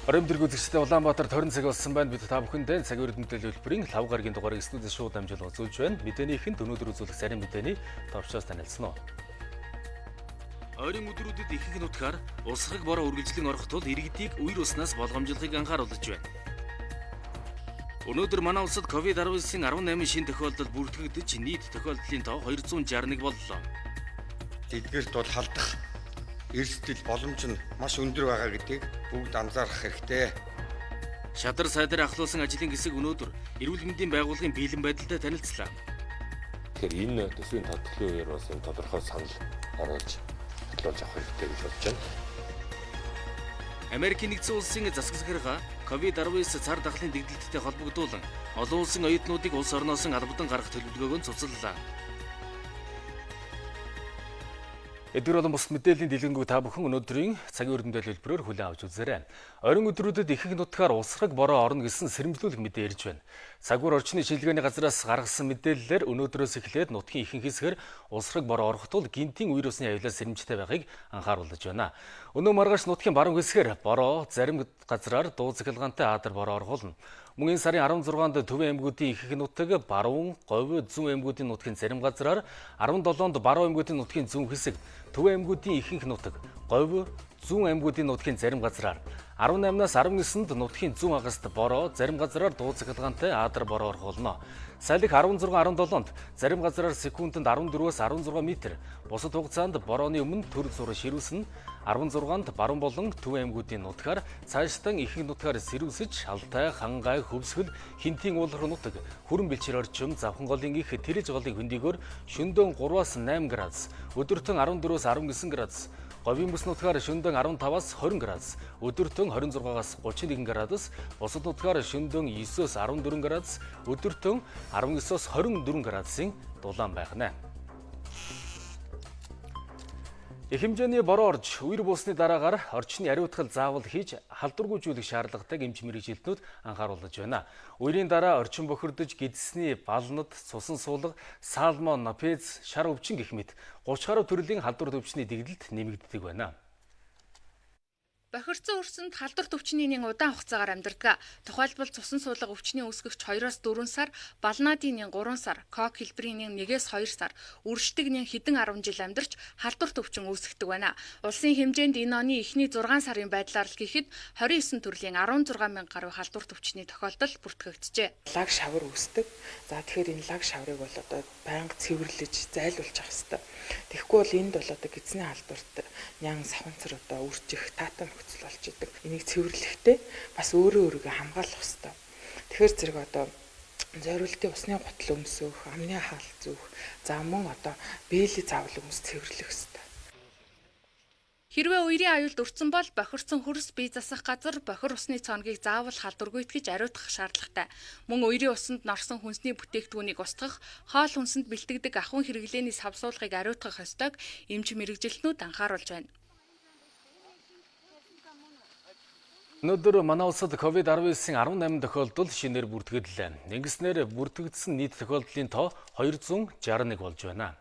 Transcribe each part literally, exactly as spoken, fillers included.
Ороймдэргүй үзэгчдээ Улаанбаатар тойрон цаг болсон байна. Бид та бүхэндээ цаг үеэр мэдээлэл хэлбэрийн лав гарагийн дугаарыг студиэс шууд дамжуулан үзүүлж байна. Мэдээнийхэнд өнөөдөр үзүүлэх зарим мэдээний товчоос танилцсан уу. Ойрын өдрүүдэд ихэнх нутгаар улсраг бороо үргэлжлэн орох тул иргэдийг үер уснаас болгоомжлохыг анхааруулж байна. Өнөөдөр манай улсад ковид десятдесятын арван найман шинэ тохиолдол бүртгэгдэж нийт тохиолдлын тоо хоёр зуун шестьдесят нэг боллоо. Эдгээрт бол халдах эрсдэл боломж нь маш өндөр байгаа гэдгийг бүгд анзаарах хэрэгтэй. Шадар сайдар ахлуулсан ажлын хэсэг өнөөдөр эрүүл мэндийн байгууллагын бэлэн байдалтай танилцлаа. Тэгэхээр энэ төсвийн тодорхойлолын үеэр бас энэ тодорхой санал оруулж хөтлөж авах хэрэгтэй гэж бодож байна. Америкийн нэгдсэн улсын засаг захиргаа ковид десятдесят цар тахлын дэгдэлттэй холбогдуулан олон улсын оюутнуудыг улс орноос албадан гаргах төлөвлөгөөг нь цуцлалаа. Эдгээр болон бус мэдээллийн дэлгэнгүй та бүхэн өнөөдрийн цагийн үр мэдээлэл хэлбэрээр хүлээн авч үзээрэй. Ойрын өдрүүдэд ихэнх нутгаар улсраг бороо орно гэсэн сэрэмжлүүлэх мэдээ ирж байна. Цагуур орчны шилжгээний газраас гаргасан мэдээллээр өнөөдрөөс эхлээд нутгийн ихэнх хэсгээр улсраг бороо орох тул гинтийн үер усны аюулаас сэрэмжтэй байхыг анхааруулж байна. Өнөө маргааш нутгийн баруун хэсгээр бороо зарим газраар дуу цахилгаантай аадар бороо орхуулна. Мөн энэ сарын арван зургаанд Төвийн аймагуудын ихэнх нутаг, баруун, говь, зүүн аймагуудын нутгийн зарим газраар, арван долоонд баруун аймагуудын нутгийн зүүн хэсэг, Төвийн аймагуудын ихэнх нутаг, говь, зүүн аймагуудын нутгийн зарим газраар, арван наймнаас арван нисэнд нутгийн зүүн хагаст бороо, зарим газраар дуу цахилгаантай аадар бороо орхуулна. Салхи арван зургаан арван долоонд зарим газраар секундэд арван дөрвөөс арван зургаан метр, бусад хугацаанд борооны өмнө төр зур ширүүсэн, арван зургаанд баруун болон Төвийн аймагуудын нутгаар цаашдаа ихэнх нутгаар сэрүүсэж, Алтай, Хангай, Хөвсгөл, Хинтийн уулар нутаг, Хүрэн бэлчээр орчим, Завхан голын их Тэрэж голын хөндийгөөр шөнөдөө гураваас намын градус, өдөртөн арван дөрвөөс арван гисэн градус, говийн бүс нутгаар шөнөдөө арван таваас хорин градус, өдөртөн хорин зургаагаас гучин нэгэн градус, бусад нутгаар шөнөдөө есөөс арван дөрвөн градус, өдөртөн арван есөөс хорин дөрвөн градусын дулаан байна. Их хэмжээний бороо орж, үер буусны дараагаар орчны ариутгал заавал хийж халдваргүйжүүлэх шаардлагатайг эмч мэргэжилтнүүд анхааруулж байна. Үерийн дараа орчин бохирдож гидсний балнад, цусан суулга, салмон, пез, шар өвчин гэх мэт гурван гаруй төрлийн халдвар төвчний дэгдэлт нэмэгддэг байна. Бохирдсон өрсөнд халдвар төвчний нэг удаан хугацаагаар амьдардаг. Тухайлбал цусан суулга өвчний үүсгэгч хоёроос дөрвөн сар, балнаадын нэг гурван сар, кок хэлбэрийн нэг нэгээс хоёр сар, үрждэг нэг хэдэн арван жил амьдарч халдвар төвчин үүсгдэг байна. Улсын хэмжээнд энэ оны эхний зургаан сарын байдлаар л гэхэд двадцать девять төрлийн арван зургаан мянга гаруй халдвар төвчний тохиолдол бүртгэгджээ. Лаг шавар үүсдэг. За тэгэхээр энэ лаг шаврыг бол одоо байнга цэвэрлэж зайлуулж авах хэрэгтэй. Тэгэхгүй бол энд бол одоо гидсний халдварт нян саванцар одоо үржих, таатан нөхцөл болж идэг. Энийг цэвэрлэхдээ бас өөрөө өөрийгөө хамгаалах хэрэгтэй. Тэгэхээр зэрэг одоо зориултын усны гутал өмсөх, амны хаалт зүүх, за мөн одоо бэлий заавал өмс цэвэрлэх хэрэгтэй. Хэрвээ үерийн аюулд өртсөн бол бохирдсон хөрс бие засах газар бохир усны цоногийг заавал халдваргүйтгэж ариутгах шаардлагатай. Мөн үерийн усанд норсон хүнсний бүтээгдэхүүнийг устгах, хоол хүнсэнд бэлтгэдэг ахуйн хэрэглээний савсуулгыг ариутгах ёстойг эмч мэргэжилтнүүд анхааруулж байна. Өнөөдөр манай улсад ковид десятдесятын арван найман тохиолдол шинээр бүртгэгдлээ. Ингэснээр бүртгэгдсэн нийт тохиолдлын тоо хоёр зуун шестьдесят нэг болж байна.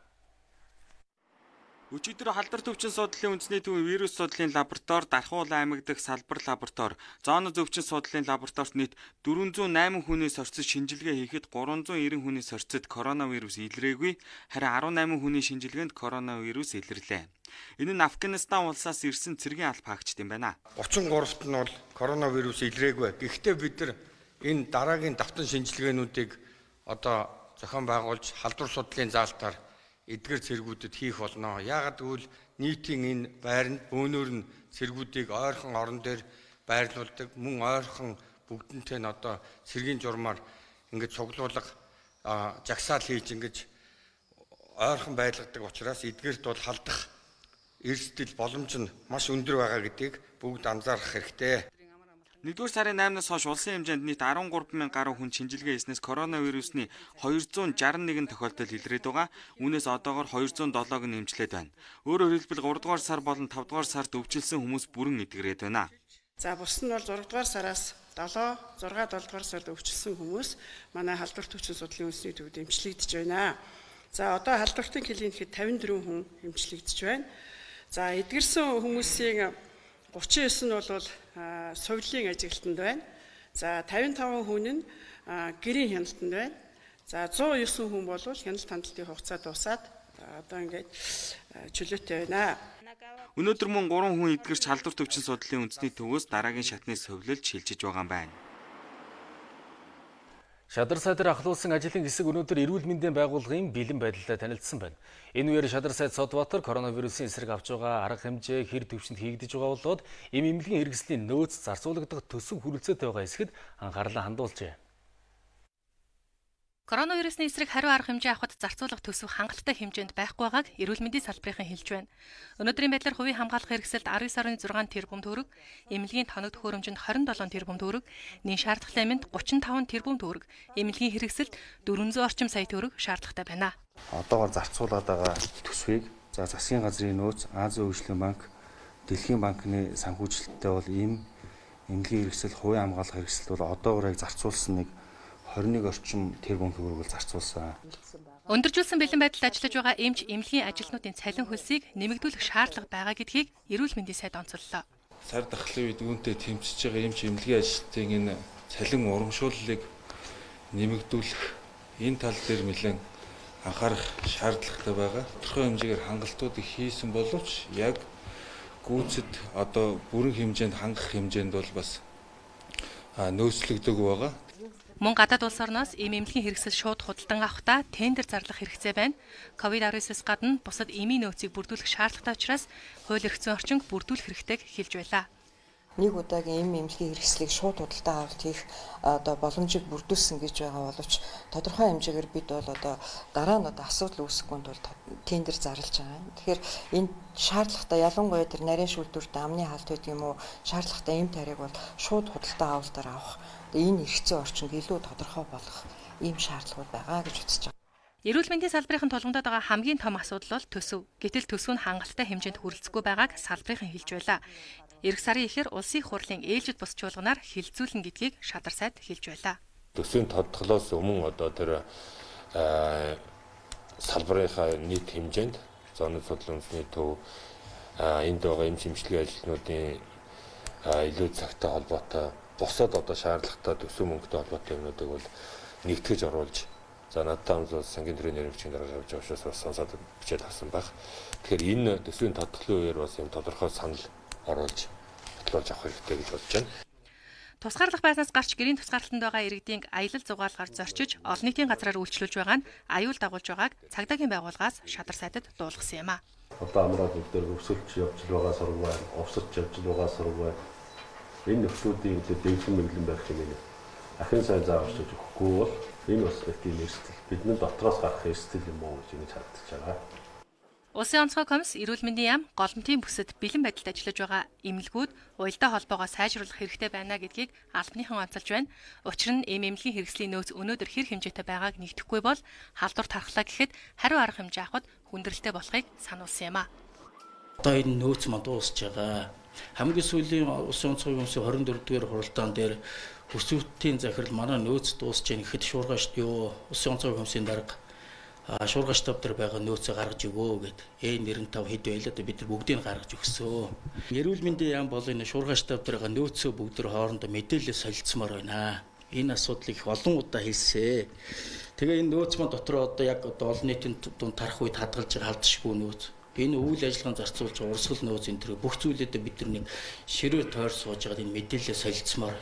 Өчигдөр халдвар төвчин судлалын үндэсний төвийн вирус судлалын лаборатори, Дархуул аймаг дахь салбар лаборатори, зооно зөвчин судлалын лабораторид нийт дөрвөн зуун найман хүнээс орцсон шинжилгээ хийхэд гурван зуун найман хүнээс орцсод коронавирус илрээгүй, харин арван найман хүний шинжилгээнд коронавирус илэрлээ. Энэ нь Афганистан улсаас ирсэн цэргийн албаагчд юм байна. гучин гуравт нь бол коронавирус илрээгүй. Гэхдээ бид нар энэ дараагийн давтан шинжилгээнүүдийг одоо зохион байгуулж халдвар судлалын заалтаар эдгээр цэргүүдэд хийх болно. Яагаад гэвэл нийтийн энэ байранд бөөнөр нь цэргүүдийг ойрхон орон дээр байрлуулдаг, мөн ойрхон бүгднтэй нь одоо цэргийн журмаар ингэж цуглуулга жагсаал хийж ингэж ойрхон байлгадаг учраас эдгээрт бол халдах эрсдэл боломж нь маш өндөр байгаа гэдгийг бүгд анзаарах хэрэгтэй. нэгдүгээр сарын наймнаас хойш улсын хэмжээнд нийт арван гурван мянган гаруй хүн шинжилгээ хийснээс коронавирусны хоёр зуун шестьдесят нэг тохиолдол илрээд байгаа. Үүнээс одоогоор хоёр зуун долоог нь эмчлээд байна. Өөрөөр хэлбэл гурав дугаар сар болон тавд дугаар сард өвчлсөн хүмүүс бүрэн эдгэрээд байна. За бус нь бол зураг дугаар сараас долоо, зураг долоо дугаар сард өвчлсөн хүмүүс манай халдвар төвчин судлалын үндэсний төвд эмчлэгдэж байна. За одоо халдвартын клиникт тавин дөрвөн хүн эмчлэгдэж байна. За эдгэрсэн хүмүүсийн гучин девять нь бол сувлын ажиглалтанд байна. За тавин таван хүн нь гэрийн хяналтанд байна. За зуун девять хүн бол хяналт хяналтын хугацаа дуусаад одоо ингээд чөлөөтэй байна. Өнөөдөр мөн гурван хүн эдгэрч халдвар төвчин судлалын үндэсний төвөөс дараагийн шатны совлилж шилжиж байгаа юм байна. Шадар сайд дээр ахлуулсан ажлын хэсэг өнөөдөр эрүүл мэндийн байгууллагын бэлэн байдлаа танилцсан байна. Энэ үеэр Шадар сайд Содбаатар коронавирусын эсрэг авч байгаа арга хэмжээ хэр төвчөнд хийгдэж байгаа болоод эм эмнэлгийн хэрэгслийн нөөц зарцуулагдах төсөв хүрэлцээтэй байгаа хэсгэд анхаарлаа хандуулжээ. Коронавирусын эсрэг хариу арга хэмжээ авахд зарцуулах төсөв хангалттай хэмжээнд байхгүй байгааг эрүүл мэндийн салбарын хэлж байна. Өнөөдрийн байдлаар хувийн хамгаалах хэрэгсэлд арван сарын зургаан тэрбум төгрөг, эмнэлгийн тоног төхөөрөмжөнд хорин долоон тэрбум төгрөг, нийт шаардлагатай аминд гучин таван тэрбум төгрөг, эмнэлгийн хэрэгсэлд дөрвөн зуун орчим сая төгрөг шаардлагатай байна. Одоогоор зарцуулаад байгаа төсвийг за засгийн газрын нөөц, Азийн хөгжлийн банк, Дэлхийн банкны санхүүжилттэй бол ийм эмнэлгийн хэрэгсэл, хувийн хамгаалах хэрэгсэлд бол одоогоор яг зарцуулсан нэг хорин нэг орчим тэрбум төгрөг зарцуулсан. Өндөржүүлсэн бэлэн байдалд ажиллаж байгаа эмч эмнэлгийн ажилтнуудын цалин хөлсийг нэмэгдүүлэх шаардлага байгаа гэдгийг эрүүл мэндийн сайд онцоллоо. Сар дахлын үед үүнтэй тэмцэж байгаа эмч эмнэлгийн ажилтнуудын энэ цалин урамшууллыг нэмэгдүүлэх энэ тал дээр нэлээд анхаарах шаардлагатай байгаа. Тодорхой хэмжээгээр хангалтуудыг хийсэн боловч яг гүйцэд одоо бүрэн хэмжээнд хангах хэмжээнд бол бас нөөцлөгдөг байгаа. Мөн гадаад улс орноос эм эмнэлгийн хэрэгсэл шууд худалдан авахдаа тендер зарлах хэрэгцээ байна. ковид девятнадцать гадна бусад эмийн нөөцийг бүрдүүлэх шаардлагатай учраас хууль эрх зүйн орчинг бүрдүүлэх хэрэгтэйг хэлж байлаа. Нэг удаагийн эм эмнэлгийн хэрэгслийг шууд худалдан авалт хийх одоо боломжийг бүрдүүлсэн гэж байгаа боловч тодорхой хэмжээгээр бид бол одоо дараа нь одоо асуудал үүсэхгүй тул тендер зарлаж байгаа. Тэгэхээр энэ шаардлагатай ялангуяа тэр нарийн шүүлтүрт амны хаалт гэдэг юм уу шаардлагатай эм тариг бол шууд худалдан авалтаар авах энэ эрх зүйн орчинд илүү тодорхой болох ийм шаардлагууд байгаа гэж үзэж байгаа. Эрүүл мэндийн салбарын тулгамдаад байгаа хамгийн том асуудал бол төсөв. Гэтэл төсөв нь хангалттай хэмжээнд хүрэлцэхгүй байгааг салбарын хэлж байлаа. Ирэх сарын эхээр улсын хурлын ээлжид бус чуулганаар хилцүүлнэ гэдгийг Шадар сайд хэлж байлаа. Төсвийн тодтголоос өмнө одоо тэр салбарынхаа нийт хэмжээнд зооны судлалын үндэсний төв энд байгаа эмч эмчилгээ ажилтнуудын илүү цагтай холбоотой босоод одоо шаардлагатай төсөв мөнгөтэй холбоотой юмнуудыг бол нэгтгэж оруулж за надтай хамт сангийн төрийн нэрвчгийн дарга явж авчаас бас сонсоод бичээд авсан баг. Тэгэхээр энэ төсвийн тодтголын үеэр бас юм тодорхой санал оруулж бодлуулж авах хэрэгтэй гэж бодож байна. Тусгаарлах байснаас гарч гэрийн тусгаарлалтанд байгаа иргэдийн аялал зугаалгаар зорчиж олон нийтийн газраар үйлчлүүлж байгаа нь аюул дагуулж байгааг цагдаагийн байгууллагаас Шадар сайдад дуулгасан юм а. Одоо амраад өвдөр өвсөлж явж байгаа сургууль, овсож явж байгаа сургууль энэ нөхцөлүүдийн дэвшин мэдлэн байх хэмээн ахин сайн зааварч өгөхгүй бол энэ бас тийм эрсдэл бидний дотроос гарах эрсдэл юм уу гэж ингэж харагдаж байгаа. Улсын онцгой комисс эрүүл мэндийн яам голомтын бүсэд бэлэн байдалд ажиллаж байгаа эмнэлгүүд уялдаа холбоогоо сайжруулах хэрэгтэй байна гэдгийг албаныхан онцолж байна. Учир нь эм эмнэлгийн хэрэгслийн нөөц өнөөдөр хэр хэмжээтэй байгааг нэгдэхгүй бол халдвар тархлаа гэхэд хариу арга хэмжээ авахд хүндрэлтэй болохыг сануулсан юм а. Одоо энэ нөөц манд дуусж байгаа. Хамгийн сүүлийн улсын онцгой комиссийн хорин дөрөвдүгээр хуралдаан дээр хүсвэтийн захирал манай нөөц дуусж байгаа гэхэд шуургаш юу улсын онцгой комиссийн дарга шуургаш тав дээр байгаа нөөцөө гаргаж өгөө гэд ээ нэрэн тав хэд байлаа да бид нар бүгдийг гаргаж өгсөн. Эрүүл мэндийн яам бол энэ шуургаш тав дээр байгаа нөөцөө бүгд төр хоорондоо мэдээлэл солилцсомоор байна. Энэ асуудлыг их олон удаа хэлсэн. Тэгээ энэ нөөц маань дотор одоо яг одоо олон нийтийн дунд тарах үед хадгалж халдшгүй нөөц. Энэ үйл ажиллагааны зарцуулж урсгал нөөц энэ төр бүх зүйлүүдэд бид нар нэг ширээ тойр сууж байгаад энэ мэдээлэл солилцсомоор.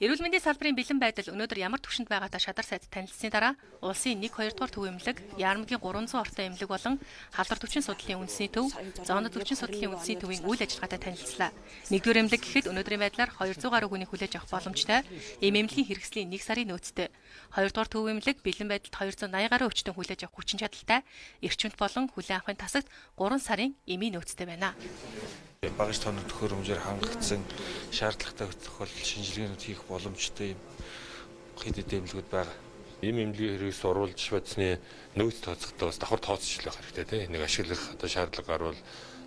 Эрүүл мэндийн салбарын бэлэн байдал өнөөдөр ямар түвшинд байгаатай Шадар сайд танилцсны дараа улсын нэг хоёр дугаар төв эмнэлэг, Яармгийн гурван зуун ортой эмнэлэг болон халдвар төвчин судлалын үндэсний төв, зооны төвчин судлалын үндэсний төвийн үйл ажиллагаатай танилцлаа. Нэгдүгээр эмнэлэг гэхэд өнөөдрийн байдлаар хоёрдугаар гаруй хүнийг хүлээж авах боломжтой. Эм эмнэлгийн хэрэгслийн нэг сарын нөөцтэй. Хоёрдугаар төв эмнэлэг бэлэн байдалд хоёр зуун наяа гаруй хүчтэн хүлээж авах хүчин чадалтай. Эрчимт болон хүлээн авахын тасагт гурван сарын эмийн нөөцтэй байна. Багаж тоног төхөөрөмжөөр хангагдсан шаардлагатай тохиолдолд шинжилгээнүүд хийх боломжтой юм хэд хэдэн эмнэлгүүд байгаа. Ийм эмнэлгийн хэрэгс оруулж бацны нөөц тооцохдоо бас давхар тооцоолох хэрэгтэй тийм. Нэг ашиглах одоо шаардлага гарвал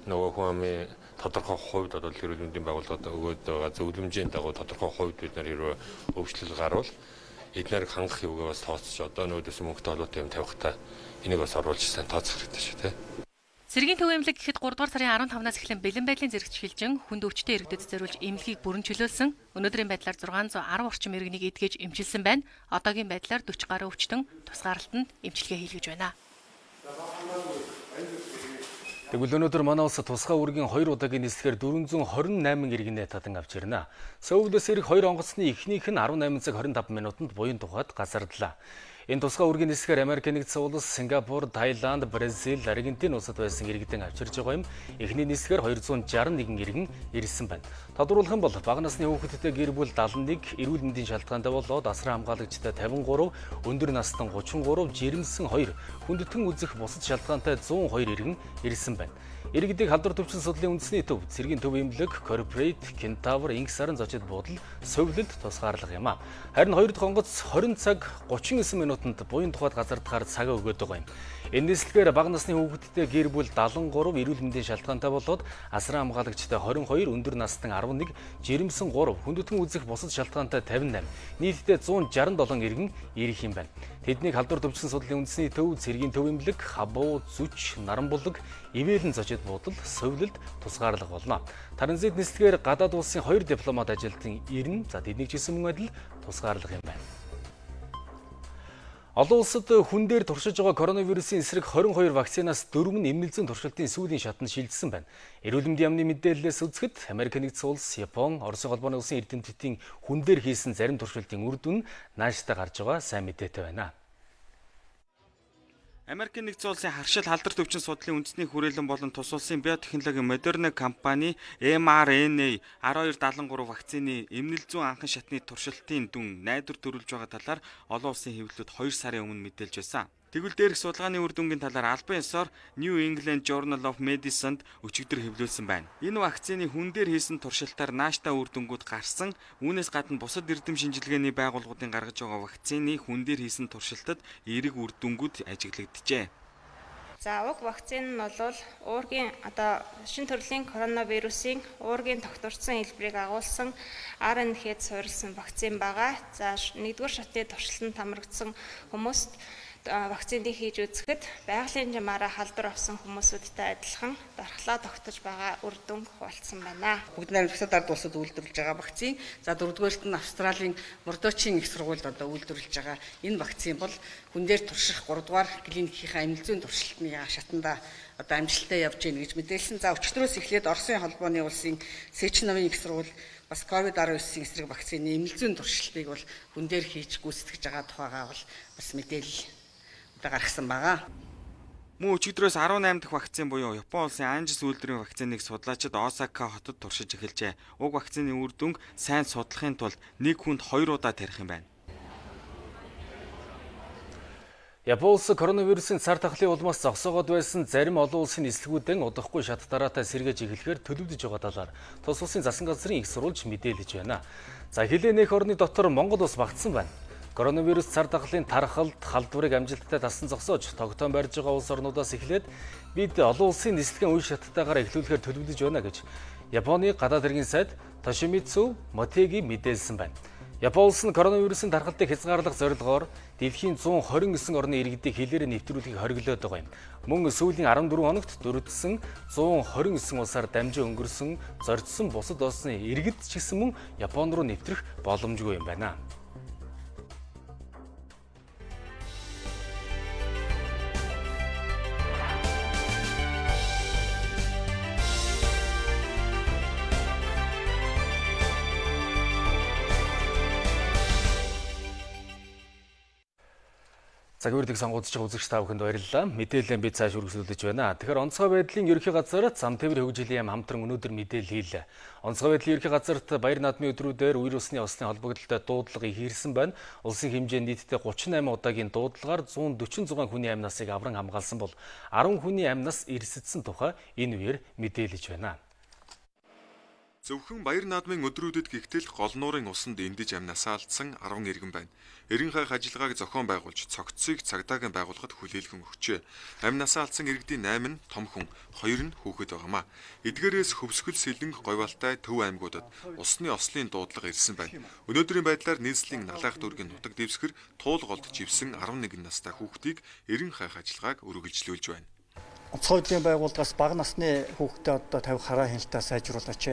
нөгөө хүн амын тодорхой хувьд одоо эрүүл мэндийн байгууллагад өгөөд байгаа зөвлөмжийн дагуу тодорхой хувьд бид нар хэрвээ өвчлөл гарвал эднэрийг хангах юугаа бас тооцож одоо нөөдөөс мөнгөтэй холбоотой юм тавихтаа энийг бас оруулж сайн тооцох хэрэгтэй шүү тийм. Цэргийн төв эмнэлэг гэхэд гуравдугаар сарын арван тавнаас эхлэн бэлэн байдлын зэрэгч шилжин хүнд өвчтөе иргэдэд зориулж эмнэлгийг бүрэн чөлөөлсөн. Өнөөдрийн байдлаар зургаан зуун арван орчим иргэнийг эдгэж эмчилсэн байна. Одоогийн байдлаар дөрвөн гаруй өвчтөн тусгаарлалтанд эмчилгээ хийлгэж байна. Тэгвэл өнөөдөр манай улс тусгай үүргийн хоёр удаагийн нислэгээр дөрвөн зуун хорин найман иргэнэ татан авч ирнэ. Сөүлөөс ирэх хоёр онгоцны ихнийх нь арван найман цаг хорин таван минутанд буян тухайд газардлаа. Энэ тусгай үүргийн нислэгээр Америк нэгдсэн улс, Сингапур, Таиланд, Бразил, Аргентин улсад байсан иргэдэн авчирж байгаа юм. Эхний нислэгээр хоёр зуун шарсан нэгэн иргэн ирсэн байна. Тодорхойлох юм бол бага насны хүүхэдтэй гэр бүл даалан нэг, эрүүл мэндийн шалтгаантай болоод асран хамгаалагчтай тавин гурав, өндөр настан гучин гурав, жирэмсэн хоёр, хүндэтгэн үзэх бусад шалтгаантай зуун хоёр иргэн ирсэн байна. Иргэдийг халдвар төвчин судлалын үндэсний төв, цэргийн төв эмнэлэг, Corporate, Kentaur, Инксарын зочид буудал, совилд тусгаарлах юм а. Харин хоёр дахь онгоц хорин цаг гучин девять минутанд буян тухайд газардахаар цагаа өгöd байгаа юм. Энэ нислэгээр бага насны хүүхэдтэй гэр бүл даалан гурав, эрүүл мэндийн шалтгаантай болоод асран хамгаалагчтай хорин хоёр, өндөр настан арван нэг, жирэмсэн гурав, хүндэтгэн үзэх бусад шалтгаантай тавин восемь, нийтдээ зуун шарсан долоо иргэн ирэх юм байна. Тэднийг халдвар төвчин судлалын үндэсний төв, цэргийн төв эмнэлэг, Хабуу, Зүч, Наранбулаг, Ивэлэн зочид буудал, совилд тусгаарлах болно. Таранзит нислэгээр гадаад улсын хоёр дипломат ажилтан ирнэ. За тэднийг ч гэсэн мөн адил тусгаарлах юм байна. Олон улсад хүн дээр туршиж байгаа коронавирусын эсрэг хорин хоёр вакцинаас дөрөв нь эмнэлзэн туршилтын сүүлийн шатанд шилжсэн байна. Эрүүл мэндийн яамны мэдээллээс үзэхэд Америк нэгдсэн улс, Япон, Оросын холбооны улсын эрдэмтдийн хүн дээр хийсэн зарим туршилтын үр дүн нааштай гарч байгаа сайн мэдээтэй байна. Америк нэгдсэн улсын харшил халдвар төвчин судлалын үндэсний хүрээлэн болон тус улсын биотехнологи Moderna компани эм ар эн эй один хоёр даалан гурав вакцины эмнэл зүүн анхан шатны туршилтын дүн найдвар төрүүлж байгаа талаар олон улсын хэвлэлүүд хоёр сарын өмнө мэдээлж байсан. Тэгвэл дээрх судалгааны үр дүнгийн талаар албан ёсоор New England Journal of Medicine-д өчигдөр хэвлүүлсэн байна. Энэ вакцины хүн дээр хийсэн туршилтаар нааштай үр дүнгууд гарсан. Үүнээс гадна бусад эрдэм шинжилгээний байгууллагуудын гаргаж байгаа вакцины хүн дээр хийсэн туршилтад эерэг үр дүнгууд ажиглагджээ. За уг вакцин нь бол уургийн одоо шинэ төрлийн коронавирусын уургийн тогтворцсон хэлбэрийг агуулсан ар эн эх-д суурилсан вакцин байгаа. За нэгдүгээр шатны туршилтанд хамрагдсан хүмүүст вакцины хийж үзэхэд байгалийн жамаараа халдвар авсан хүмүүсүүдтэй адилхан дархлаа тогтож байгаа үр дүн хуваалцсан байна. Бүгд найрамдагчдад ард улсад үйлдвэрлэж байгаа вакцин. За дөрөвдүгээрт нь Австралийн Мордочийн их сургуульд одоо үйлдвэрлэж байгаа энэ вакцин бол хүн дээр турших гуравдугаар клиникийнхаа эмнэл зүйн туршилтны шатанда одоо амжилттай явж гэнэ гэж мэдээлсэн. За өчигдрөөс эхлээд Оросын холбооны улсын Сечновын их сургууль бас ковид арван девятийн эсрэг вакцины эмнэл зүйн туршилтыг бол хүн дээр хийж гүйцэтгэж байгаа тухайгаа бол бас мэдээлэл гаргасан байгаа. Мөн өчигдрөөс арван найман дахь вакцин буюу Япон улсын Анжис үйлдвэрийн вакциныг судлаачид Осака хотод туршиж эхэлжээ. Уг вакцины үр дүнг сайн судлахын тулд нэг хүнд хоёр удаа тарих юм байна. Япон улс коронавирусын цар тахлын улмаас зогсоогоод байсан зарим олон улсын нислэгүүдэн удахгүй шат дараатай сэргээж эхлэхээр төлөвлөж байгаа талаар тус улсын засан газрын их сурвалж мэдээлж байна. За хилээ нэх орны дотор Монгол улс багтсан байна. Коронавирус цар тахлын тархалт халдварыг амжилттай тасан зогсоож тогтоон барьж байгаа улс орнуудаас эхлээд бид олон улсын нислэгийн үе шаттайгаар эхлүүлэхээр төлөвлөж байна гэж Японы гадаад хэргийн сайд Тошимицу Мотеги мэдээлсэн байна. Япон улс нь коронавирусын тархалтыг хязгаарлах зорилгоор дэлхийн зуун хорин девять орны иргэдийг хилээр нэвтрүүлэхийг хориглоод байгаа юм. Мөн сүүлийн арван дөрвөн хоногт дөрвөлдсөн зуун хорин девять улсаар дамжин өнгөрсөн зорьдсон бусад улсны иргэд ч гэсэн мөн Япон руу нэвтрэх боломжгүй юм байна. Цагуурдыг сонгогдож байгаа үзэгч та бүхэнд баярлалаа. Мэдээлэл бид цааш үргэлжлүүлж байна. Тэгэхээр онцгой байдлын ерөнхий газар зам тээвэр хөгжлийн яам хамтран өнөөдөр мэдээлэл хийлээ. Онцгой байдлын ерөнхий газарт баяр наадмын өдрүүдээр вирусны осны холбогдлолтой дуудлага ихирсэн байна. Улсын хэмжээнд нийтдээ гучин найман удаагийн дуудлагаар зуун дөрвөн зугаан хүний амь насыг авран хамгаалсан бол арван хүний амь нас эрсэдсэн тухай энэ үеэр мэдээлж байна. Зөвхөн баяр наадмын өдрүүдэд гихтэл гол нуурын усанд эндэж амнасаа алдсан арван иргэн байна. Эрен хайх ажиллагааг зохион байгуулж цогцыг цагдаагийн байгууллагад хүлээлгэн өгчээ. Амнасаа алдсан иргэдийн восемь нь том хүн, хоёр нь хүүхэд байгаамаа. Эдгээрээс хөвсгөл сэлэнг говьалтай төв аймагуудад усны ослын дуудлага ирсэн байна. Өнөөдрийн байдлаар нийслэлийн налаах дүүргийн нутаг дэвсгэр туул голд живсэн арван нэгэн настай хүүхдийг эрен хайх ажиллагааг үргэлжлүүлж байна. онцгой хөдөлгөөний байгууллагаас бага насны хүүхдэд одоо тавих хараа хяналтаа сайжруулаач.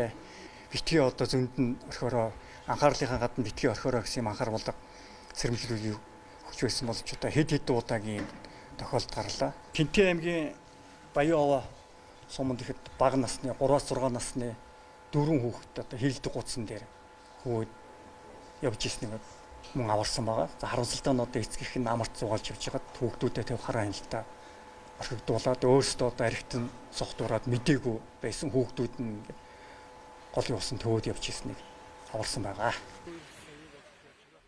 Битгий одоо зөнд нь орхиороо анхаарлынхаа гадна битгий орхиороо гэсэн юм анхааруулга сэрэмжлүүлгийг өгч байсан болж одоо хэд хэд удаагийн тохиолдол гарлаа. Тэнтэй аймгийн Баян-Ова суманд ихэд бага насны гураваас зургаан насны дөрвөн хүүхэд одоо хилдэг гуцсан дээр хөөд явж ирснийг мөн аварсан байгаа. За харамсалтай нь одоо эцгийнх нь амарт зугаалж явж байгаад хүүхдүүдэд тавих хараа хяналтаа орхигдуулаад өөрсдөө одоо архитан сохтуураад мдээгүй байсан хүүхдүүд нь голын усан төвөд явж ирснийг аварсан байгаа.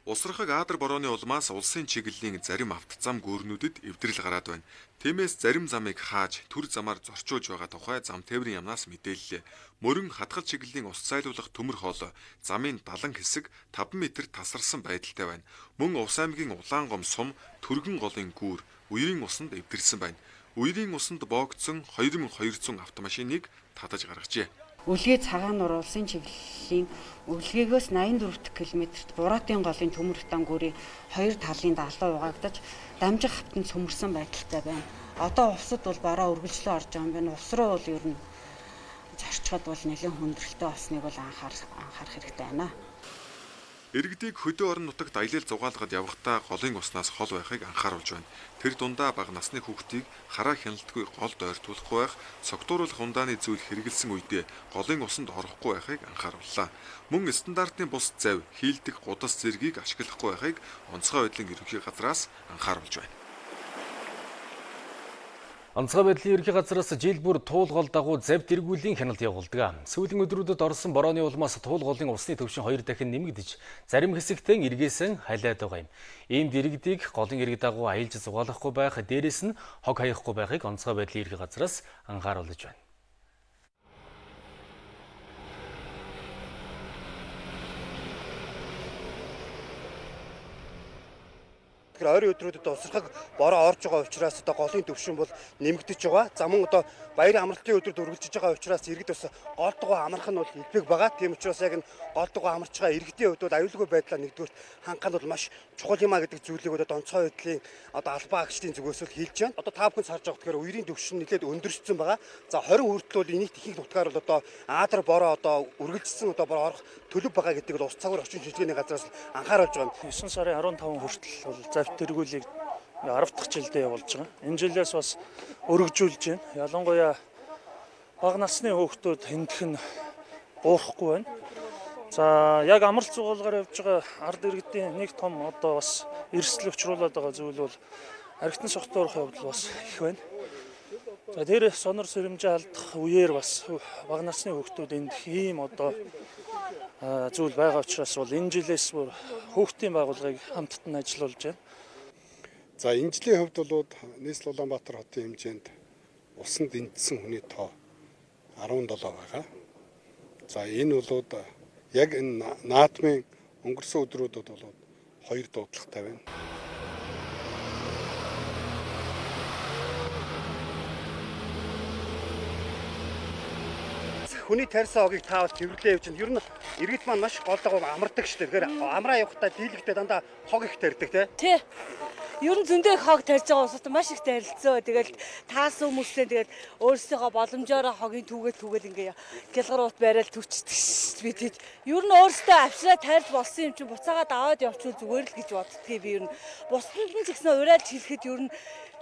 Усрахаг Аадар борооны улмаас улсын чиглэлийн зарим автозам гүүрнүүдэд эвдрэл гараад байна. Тиймээс зарим замыг хааж төр замаар зорчуулж байгаа тухай зам тээврийн яамнаас мэдээллээ. Мөрөн хатгал чиглэлийн ус цайлуулах төмөр хоол замын далан хэсэг таван метр тасарсан байдалтай байна. Мөн Увс аймгийн Улаангом сум Түргэн голын гүүр үерийн усанд эвдэрсэн байна. Үерийн усанд боогдсон хоёр nghìn хоёр зуун автомашиныг татаж гаргажээ. Үлгээ цагаан нур улсын чиглэлийн үлгээгөөс найман дөрвөн километрт Бураатын голын төмөр тангуурын хоёр талын даалгавар угаагдаж дамжих хавтанд цөмөрсөн байдалтай байна. Одоо увсад бол бараа үргэлжлэн орж байгаа юм байна. Увс руу бол ер нь зорчход бол нэлээд хүндрэлтэй болсныг бол анхаар анхаарах хэрэгтэй байна. Иргэдийг хөдөө орон нутагт аялал зугаалгад явахдаа голын уснаас хол байхыг анхааруулж байна. Тэр дундаа бага насны хүүхдийг хараа хяналтгүй голд ойртуулахгүй байх, цогтууруулах ундааны зүйл хэрэгэлсэн үедээ голын усанд орохгүй байхыг анхаарууллаа. Мөн стандартын бус завь, хийлдэх гудас зэргийг ашиглахгүй байхыг онцгой байдлын ерөнхий газраас анхааруулж байна. Онцгой байдлын ерөнхий газраас жил бүр туул гол дагуу завь тэргүүлийн хяналт явуулдаг. Сүүлийн өдрүүдэд орсон борооны улмаас туул голын усны төвшин хоёр дахин нэмэгдэж, зарим хэсэгтээ эргээсэн хайлаад байгаа юм. Ийм дэрэгдийг голын эрэг дагуу аялж зугаалахгүй байх, дээрээс нь хог хаяхгүй байхыг онцгой байдлын ерөнхий газраас анхааруулж байна. Тэгэхээр ойрын өдрүүдэд усрахаг бороо орж байгаа учраас одоо голын төвшин бол нэмэгдэж байгаа. За мөн одоо баярын амралтын өдрөд үргэлжлэж байгаа учраас иргэд бас гол дугуй амрах нь бол илбэг байгаа. Тийм учраас яг энэ гол дугуй амарч байгаа иргэдийн хувьд бол аюулгүй байдлаа нэгдүгээр хангах нь бол маш чухал юм а гэдэг зүйлийг одоо онцгой байдлын одоо албан агчдын зүгээс л хэлж байна. Одоо та бүхэн харж байгаа тэгэхээр үерийн төвшин нэлээд өндөрчсөн байгаа. За хорин хүртэл бол энийг ихэнх нутгаар бол одоо Аадар бороо одоо үргэлжлсэн одоо бороо орох төлөв байгаа гэдэг нь ус цагаар орчин шилжгээний газраас анхааруулж байгаа. девять сарын арван таван хүртэл бол завь тэргүүлийг арав дахь жилдээ явуулж байгаа. Энэ жилээс бас өргөжүүлж байна. Ялангуяа бага насны хүүхдүүд хэндэх нь буурахгүй байна. За яг амралт зугаалгаар явж байгаа ард иргэдийн нэг том одоо бас эрсдэл учруулад байгаа зүйл бол архитан сохтуурах явдал бас их байна. За тэр сонор сэрэмжээ алдах үеэр бас бага насны хүүхдүүд энд ийм одоо зүйл байгаа учраас бол энэ жилээс бүр хүүхдийн байгууллагыг хамттан ажиллуулж байна. За энэ жилийн хувьд бол нийслэл Улаанбаатар хотын хэмжээнд усанд эндсэн хүний тоо арван долоо байгаа. За энэ бол яг энэ наадмын өнгөрсөн өдрүүдэд бол хоёр дуудлагатай байна. Хүний тарьсан хогийг таавал тэрвэрлээ явж байна. Ер нь иргэд маань маш гол дагуу амардаг шүү дээ. Тэгэхээр амраа явахдаа дийлэгтээ дандаа хог их тарьдаг тий. Тий. Ер нь зөндөө их хог тарьж байгаа устай маш их тарилцоо. Тэгэл таасан хүмүүсээ тэгэл өөрсдийнхөө боломжоор хогийн түүгээл түүгээл ингээ гялгаруут барайл түвчдэг шүү дээ. Бид ер нь өөрсдөө авчраа тарьж болсон юм чинь буцаагаад аваад явчихвал зүгээр л гэж боддгийг би ер нь бусдад нь ч гэсэн урайлж хэлэхэд ер нь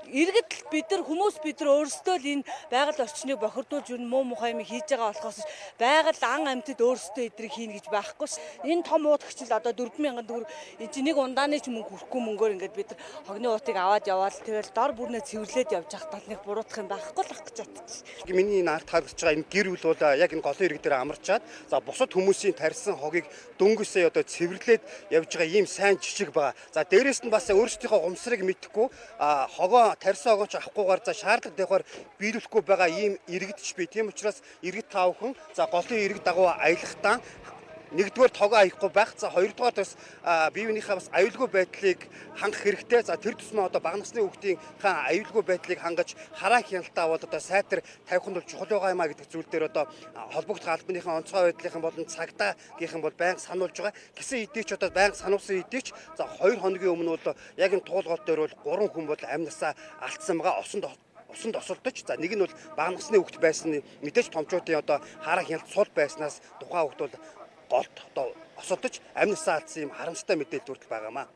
иргэд бид нар хүмүүс бид нар өөрсдөө л энэ байгаль орчныг бохирдуулж юу муу мухай юм хийж байгаа болохоос байгаль ан амьтад өөрсдөө эдрийг хийнэ гэж байхгүй ш. Энэ том уудагч л одоо дөрвөн мянган төгрөг энэ чинь нэг ундааны ч мөнгө хүрхгүй мөнгөөр ингээд бид нар хогны уутыг аваад яваал тэгэл дор бүрнээ цэвэрлээд явж явах тал нэг буруутах юм байхгүй л ах гэж бодчих. Миний энэ арт харагдаж байгаа энэ гэр бүл бол яг энэ голын иргэд дээр амарчаад за бусад хүмүүсийн тарьсан хогийг дөнгөсөө одоо цэвэрлээд явж байгаа ийм сайн жижиг байгаа. За дээрэс нь бас өөрсдийнхөө умсрыг мэдхгүй хогоо тарьсан огооч авахгүйгээр за шаардлага дэхоор биелүүлэхгүй байгаа ийм иргэдч бий. Тийм учраас иргэд таавхан за голын иргэд дагуу аялахдаа нэгдүгээр тогоо аяхгүй байх. За хоёрдугаар бас бие биенийхээ бас аюулгүй байдлыг хангах хэрэгтэй. За тэр тусмаа одоо бага насны хүүхдийн хаан аюулгүй байдлыг хангаж хараа хяналтаа бол одоо сайтар тавих нь бол чухал байгаа юм а гэдэг зүйл дээр одоо холбогдох албаныхаа онцгой байдлынхан болон цагдаагийнхан бол байнга сануулж байгаа. Гэсэн хэдий ч одоо байнга сануулсан хэдий ч за хоёр хоногийн өмнө бол яг энэ туулгол дээр бол гурван хүн бол амь насаа алдсан байгаа. Осонд усанд осолдож за нэг нь бол бага насны хүүхэд байсан мэдээж томчуудын одоо хараа хяналт сул байснаас тухайн хүүхэд бол голд одоо осолдож амнасаа алдсан юм харамсалтай мэдээлэл хүртэл байгаамаа.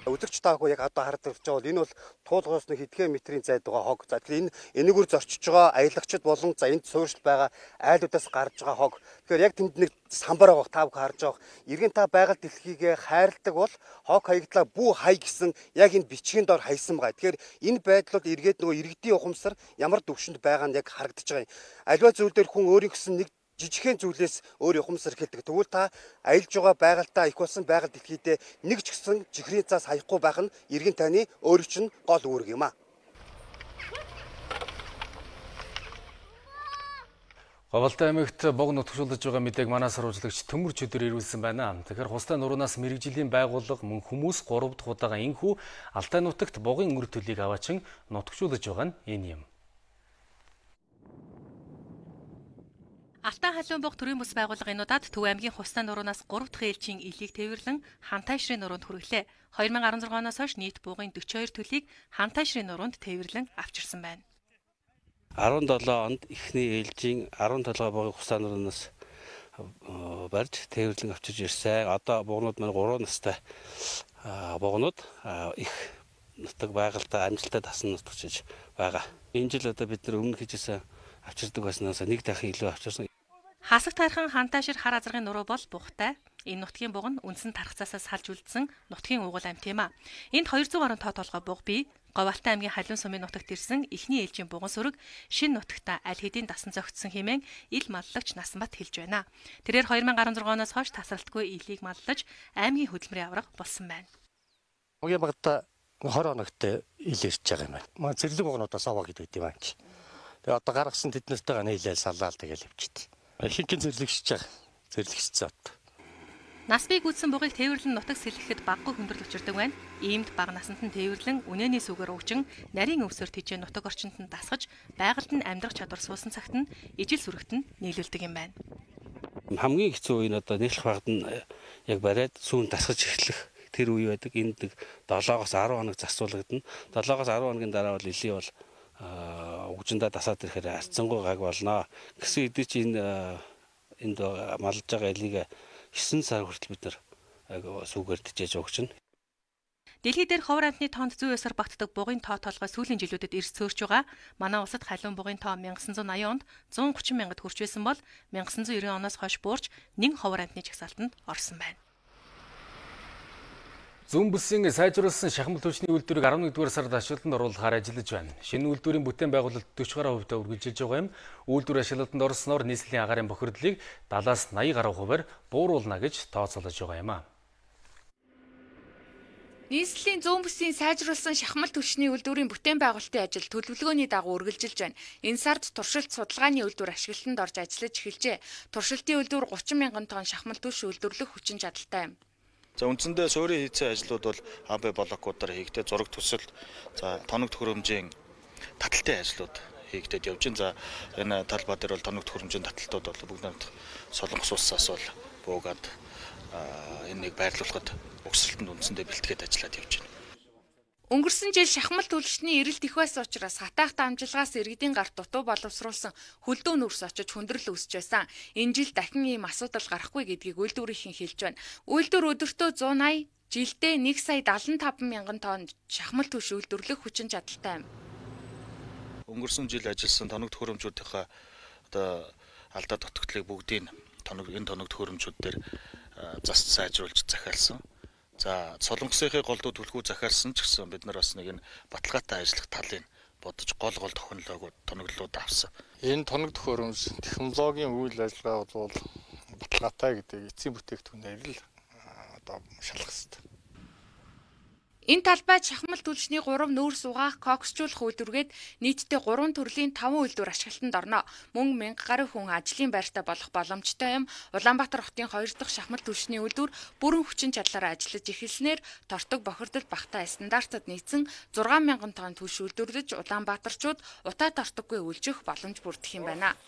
Өдөрч таагүй яг одоо харж байгаа бол энэ бол туулгаас нэг хэдхэн метрийн зайд байгаа хог. За тэгэхээр энэ энэгээр зорчиж байгаа аялагчид болон за энд суурьшил байгаа айлуудаас гарч байгаа хог. Тэгэхээр яг тэнд нэг самбар байгаа та бүхэн харж байгаа. Иргэн та байгаль дэлхийгээ хайрладаг бол хог хаягдлаа бүү хай гэсэн яг энэ бичгийн дор хайсан байгаа. Тэгэхээр энэ байдал бол эргээд нөгөө иргэдийн ухамсар ямар төвшөнд байгаа нь яг харагдаж байгаа юм. Аливаа зүйл дээр хүн өөрийн гэсэн нэг жижигхэн зүйлээс өөр ухамсар хэлдэг. Тэгвэл та аялж байгаа байгальтаа их болсон байгаль дэлхийдээ нэг ч гэсэн чихрийн цаас хаяхгүй байх нь иргэн таны өөрийн чинь гол үүрэг юм а. Говьалтай аймагт бог нутгшуулж байгаа мэдээг манай сурвалжлагч Төмөр Чөдөр ирүүлсэн байна. Тэгэхээр хустай нуруунаас мэрэгжлийн байгууллага мөн хүмүүс гурав дахь удаага энхүү Алтай нутагт богийн үр төлийг аваачин нутгшуулж байгаа нь энэ юм. Алтай халуун бог төрийн бус байгууллагынудад Төв аймгийн хустай нуруунаас гурав дахь ээлжийн илийг тээвэрлэн Хантайшрын нуруунд хүрэглээ. две тысячи десять оноос хойш нийт буугын forty two төлийг Хантайшрын нуруунд тээвэрлэн авчирсан байна.17 онд эхний ээлжийн twelve буугын хустай нуруунаас барьж тээвэрлэн авчирж ирсэн. Одоо буугнууд маань three настай буугнууд их нутаг байгальтай амжилттай дасан нутагчиж байгаа. Энэ жил одоо бид нар өмнө хийжсэн авчирдаг байснаас нэг дахин илүү авчирсан. Хасаг тайрхан Хантайшир хар азаргын нуруу бол бухтай. Энэ нутгийн буг нь үндсэн тархацаасаас салж үлдсэн нутгийн угуул амт юм а. Энд two hundred гаруй тоо толгой буг бий. Говьалтай аймгийн халуун сумын нутагт ирсэн эхний ээлжийн буган сүрэг шинэ нутагта аль хэдийн дасан зохицсон хэмээн ил маллагч Насанбат хэлж байна. Тэрээр two thousand sixteen оноос хойш тасралтгүй илийг маллаж аймгийн хөдөлмөрийн авраг болсон байна. Уян багта twenty хоногт ил ирж байгаа юм байна. Маа зэрлэг бугнуудаас аваа гэдэг юм аа. Тэгээ одоо гаргасан тэднэртэйгээ нийлээл саллаал тэгэл явчихд. Хинхэн зэрлэгшиж байгаа. Зэрлэгшсэн одоо. Нас бий гүйцсэн бугыг тээвэрлэн нутаг сэлгэхэд баггүй хүндрэл учирдаг байна. Иймд бага насанд нь тээвэрлэн үнэний сүгээр уучин нарийн өвсөөр тижээ нутаг орчинд нь дасгаж байгальд нь амьдрах чадвар суусан цагт нь ижил сүрэгт нь нийлүүлдэг юм байна. Хамгийн хэцүү үе нь одоо нийлэх багт нь яг бариад сүүн дасгаж эхлэх тэр үе байдаг. Энд нэг seven-оос ten хоног засуулагдана. seven-оос ten хоногийн дараа бол илий бол угжиндаа дасаад ирэхээр арцсангуй гаг болно. Гэсэн хэдий чи энэ энд малж байгаа элийг nine сар хүртэл бид нар сүүгээр тижээж өгчнө. Дэлхий дээр ховор амтны тоонд зүй ёсоор багтдаг бугын тоо толгой сүүлийн жилүүдэд эрс цөөрч байгаа. Манай улсад халуун бугын тоо nineteen ninety онд one thirty мянгад хүрч байсан бол nineteen ninety оноос хойш буурч нэг ховор амтны жагсаалтанд орсон байна. Зүүн бүсийн сайжруулсан шахмал түвшний үйлдвэрийг eleven-р сард ашиглалтанд оруулахаар ажиллаж байна. Шинэ үйлдвэрийн бүтээн байгуулалт forty гаруй хувьтай үргэлжилж байгаа юм. Үйлдвэр ашиглалтанд орсноор нийслэлийн агаарын бохирдлыг seventy-аас eighty гаруй хувиар бууруулна гэж тооцоолж байгаа юм а. Нийслэлийн зүүн бүсийн сайжруулсан шахмал түвшний үйлдвэрийн бүтээн байгуулалтын ажил төлөвлөгөөний дагуу үргэлжилж байна. Энэ сард туршилт судалгааны үйлдвэр ашиглалтанд орж ажиллаж эхэлжээ. Туршилтын үйлдвэр thirty мянган тонн шахмал түвш үйлдвэрлэх хүчин чадалтай юм. За үндсэндээ суурийн хийцэн ажлууд бол эй би блокуудаар хийгдээ зураг төсөл, за тоног төхөөрөмжийн таталтын ажлууд хийгдээд явж байна. За энэ талбай дээр бол тоног төхөөрөмжийн таталтууд бол бүгд нэг Солонгос улсаас бол буугаад энийг байрлуулахад угсралтанд үндсэндээ бэлтгээд ажиллаад явж байна. Өнгөрсөн жил шахмал түвшний эрэлт их байсан учраас хатаах дамжлагаас иргэдийн гарт дутуу боловсруулсан хөлдөө нүрс очиж хүндрэл үүсэж байсан. Энэ жил дахин ийм асуудал гарахгүй гэдгийг үйлдвэрийнхэн хэлж байна. Үйлдвэр өдөртөө one eighty, жилдээ one сая seventy-five мянган тонн шахмал түвш үйлдвэрлэх хүчин чадалтай юм. Өнгөрсөн жил ажилласан тоног төхөөрөмжүүдийнхээ одоо алдаа дутагдлыг бүгдийг тоног энэ тоног төхөөрөмжүүд дээр зас сайжруулж захиалсан. За Солонгосынхээ голдуу түлхүү захиалсан ч гэсэн бид нар бас нэг энэ баталгаатай ажиллах талын бодож гол гол технологиуд тоноглолууд авсан. Энэ тоног төхөөрөмж технологийн үйл ажиллагаа бол баталгаатай гэдэг эцсийн бүтээгдэхүүнээр л одоо шалгах хэрэгтэй. Энэ талбайд шахмал түлшний three нүүрс угаах коксжуулах үйлдвэргээд нийтдээ three төрлийн five үйлдвэр ашиглалтанд орно. Мөн one thousand гаруй хүн ажлын байртай болох боломжтой юм. Улаанбаатар хотын хоёр дахь шахмал түлшний үйлдвэр бүрэн хүчин чадлаараа ажиллаж эхэлснээр тортог бохирдол багтаа стандартад нийцсэн six мянган тонн түлш үйлдвэрлэж Улаанбаатарчууд утаа тортоггүй үйлжих боломж бүрдэх юм байна.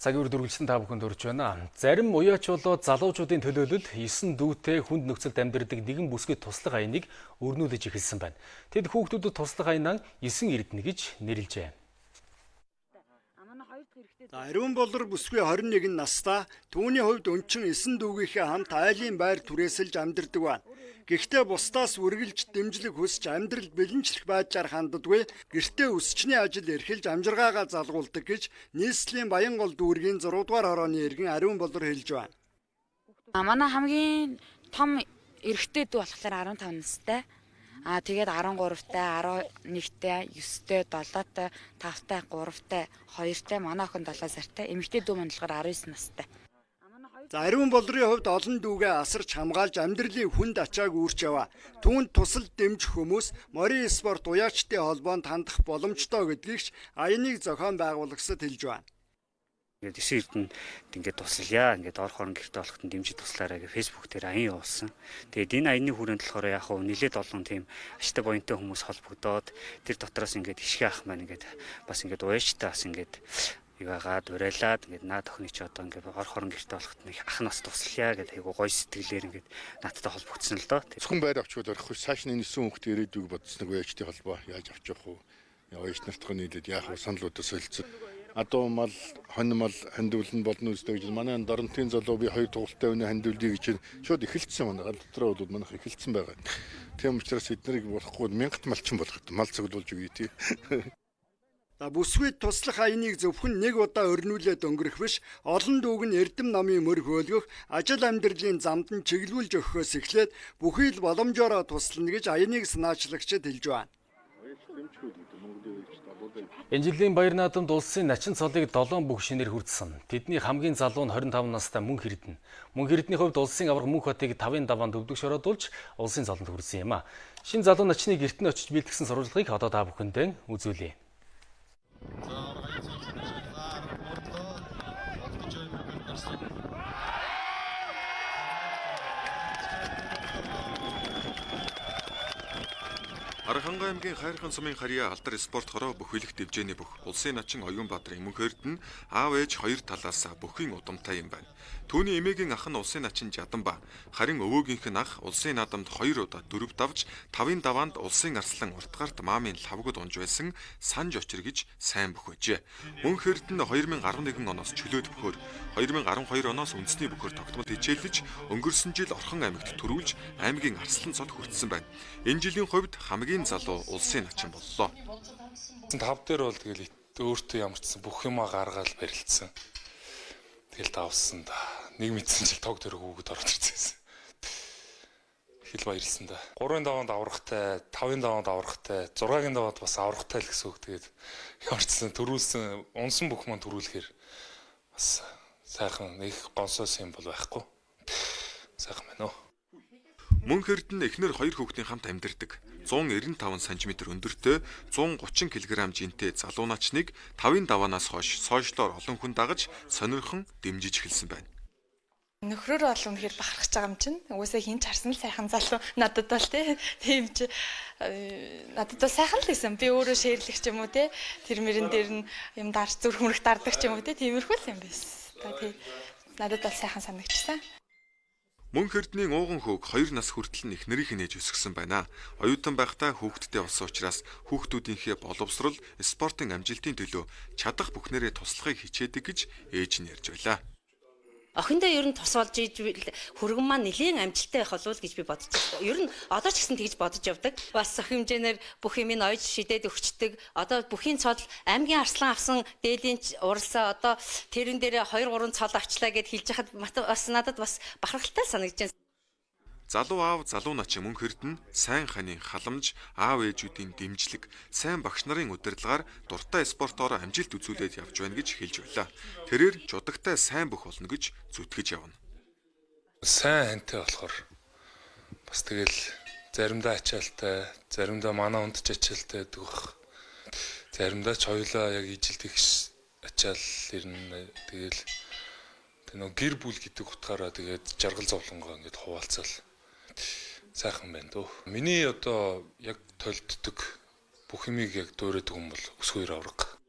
Цагийн үр дүргэлжсэн та бүхэнд хүрч байна. Зарим уяач болоод залуучуудын төлөөлөлд есөн дүүтэй хүнд нөхцөлд амьдардаг нэгэн бүсгүй туслах аяныг өрнүүлж эхэлсэн байна. Тэд хүүхдүүдэд туслах аянаа есөн эрдэнэ гэж нэрлэжээ. Ариун болор бүсгүй хорин нэгэн настай түүний хувьд өнчин есөн дүүгийнхээ хамт айлын байр түрээсэлж амьдардаг байна. Гэхдээ бусдаас үргэлж дэмжлэг хүсч амьдрал бэлэнчлэх байдлаар ханддаггүй гэртээ өсчний ажил эрхэлж амжиргаагаа залгуулдаг гэж нийслэлийн Баянгол дүүргийн зургаан дугаар хорооны иргэн Ариун болор хэлж байна. Манай хамгийн том эрэгтэй дүү болохоор арван таван настай. Аа тэгээд арван гуравтай, арван нэгтэй, ёстой, долоотой, тавтай, гуравтай, хоёртай, манай охин долоо сартай, эмэгтэй дүү маань болохоор арван девять настай. За Ариун болрын хувьд олон дүүгээ асарч хамгаалж амьдралын хүнд ачааг үүрч яваа. Түүнд тусал дэмжих хүмүүс морин спорт уяачтын холбоонд хандах боломжтой гэдгийг аяныг зохион байгуулагчид хэлж байна. Ингээд эсийн эрдэнэ ингээд туслая. Ингээд ор хорон гэрте болоход дэмжиж туслаарай гэж фэйсбүүк дээр аян явуулсан. Тэгээд энэ аяны хүрээнд болохоор яг хөө нэлээд олон тийм ашигтай буянтай хүмүүс холбогдоод тэр дотроос ингээд ишгэ ах маань ингээд бас ингээд уяачтай бас ингээд юугаад урайлаад ингээд наад охины ч одоо ингээд ор хорон гэрте болоход нэг ах нас туслая гэдэг айгу гоё сэтгэлээр ингээд наадтай холбогдсон л доо. Зөвхөн байр авчвал орох цааш нь нисэн хүмүүст ирээдүйг бодсног уяачтын холбоо яаж авч явах вэ? Уяач нартхан нийлээд яах вэ? Саналуудаа солилцсон. Адуу мал, хонь мал хандуулна болно үстэй гэж манай Доронтын залуу би хоёр тугалтай өнө хандуулъя гэж шууд эхэлсэн манай гал дотроо бол манайх эхэлсэн байгаа. Тийм учраас эднийг болохгүй мянгат малчин болгох мал цуглуулж өгье тий. За бүсгүйд туслах аяныг зөвхөн нэг удаа өрнүүлээд өнгөрөх биш, олон дүүг нь эрдэм намын мөр хөөлгөх, ажил амьдралын замд нь чиглүүлж өгөхөөс эхлээд бүхий л боломжоор туслана гэж аяныг санаачлагчид хэлж байна. Энэ жилийн Баяр наадамд улсын начин цолыг долоон бүх шинээр хүртсэн. Тэдний хамгийн залуу нь двадцать пять настай Мөнх Эрдэнэ. Мөнх Эрдэнэний хувьд улсын авраг Мөнх хотыг тавын даваанд өвдөгч ороод улсын цолонд хүрсэн юм а. Шинэ залуу начныг эртний очиж бэлтгэсэн сурвалжлагыг одоо та бүхэндээ үзүүлье. Архангай аймгийн Хайрхан сумын харьяа алдар спорт хороо бүхэлэх дэвжээний бүх улсын начин Оюун Баатрын Мөнх Эрдэнэ аав ээж хоёр талаас бүхийн удамтай юм байна. Түүний эмээгийн ах нь улсын начин Жаданба, харин өвөөгийнх нь ах улсын наадамд хоёр удаа дөрөв давж, тавын даваанд улсын арслан уртгарт маамын лавгад унж байсан Санж Очир гэж сайн бүх байжээ. Мөнх Эрдэнэ хоёр мың арван нэгэн оноос чөлөөт бөхөр, хоёр мың арван хоёр оноос үндэсний бөхөр тогтмол хичээлж, өнгөрсөн жил Орхон аймагт төрүүлж аймгийн арслан цод хүртсэн байна. Энэ жилийн хувьд хамгийн залуу улсын начин боллоо. Тав дээр бол тэгэл өөртөө ямарчсан бүх юмаа гаргаал барилцсан. Тэгэл давсан да. Нэг мэдсэн чил тог дээр хүүхэд орж ирсэн. Хэл баярлсан да. гурван даваанд аврахтай, тавын даваанд аврахтай, зургагийн даваанд бас аврахтай л гэсэн үг. Тэгээд ямарчсан төрүүлсэн, унсан бүх маань төрүүлэхээр бас сайхан нэг гонсоос юм бол байхгүй. Сайхан байна уу? Мөнх Эрдэнэ эхнэр хоёр хүүхдийн хамт амьдардаг. зуун нэрвэн таван сантиметр өндөртэй, зуун гучин килограмм жинтэй залуу начныг тавын даваанаас хойш сойжлоор олон хүн дагаж сонирхон дэмжиж эхэлсэн байна. Нөхрөөр бол үнэхээр бахархаж байгаа юм чинь. Угсаа хин ч харсан л сайхан залуу надад бол тийм ч надад бол сайхан л байсан. Би өөрөө шээрлэх ч юм уу те. Тэр мөрөн дээр нь юм дарч зүрх мөрөх дардаг ч юм уу те. Тиймэрхүү л юм байсан. Тэ надад бол сайхан санагдчихсан. Мөнх Эрдэнийн ууган хөөг хоёр нас хүртэл их нэрийнх нээж өсгсөн байна. Оюутан байхдаа хүүхдтэй болсон учраас хүүхдүүдийнхээ боловсрол, спортын амжилтын төлөө чадах бүхнээрээ туслахыг хичээдэг гэж ээж нь ярьж байлаа. Охиндоо ер нь тус болж иж хөргөн маань нэлийн амжилттай байх болов гэж би бодож байна. Ер нь одоо ч гэсэн тэгж бодож явдаг. Бас өх хэмжээгээр бүх юм ин ойж шидээд өгчдөг. Одоо бүхийн цол аймгийн арслан авсан дээлийн уралсаа одоо тэрэн дээр хоёр гурван цол авчлаа гэд хэлж хахад бас надад бас бахархалтай санагдаж байна. Залуу аав, залуу начин Мөнх Эрдэнэ сайн ханийн халамж, аав ээжүүдийн дэмжлэг, сайн багш нарын удирдлагаар дуртай спортоор амжилт үзүүлээд явж байна гэж хэлж байлаа. Тэрээр жудагтай сайн бүх болно гэж зүтгэж явна. Сайн хантай болохоор бас тэгэл заримдаа ачаалтай, заримдаа манаа ундч ачаалтай гэдэг бах. Заримдаа ч хоёулаа яг ижилдэх ачаал ирнэ. Тэгэл тэр нөө гэр бүл гэдэг утгаараа тэгээд жаргал зовлонгоо ингээд хуваалцал сайхан байна дөө. Миний одоо яг толддог бүх юмыг яг дуурайдаг хүн бол өсгөөр авраг.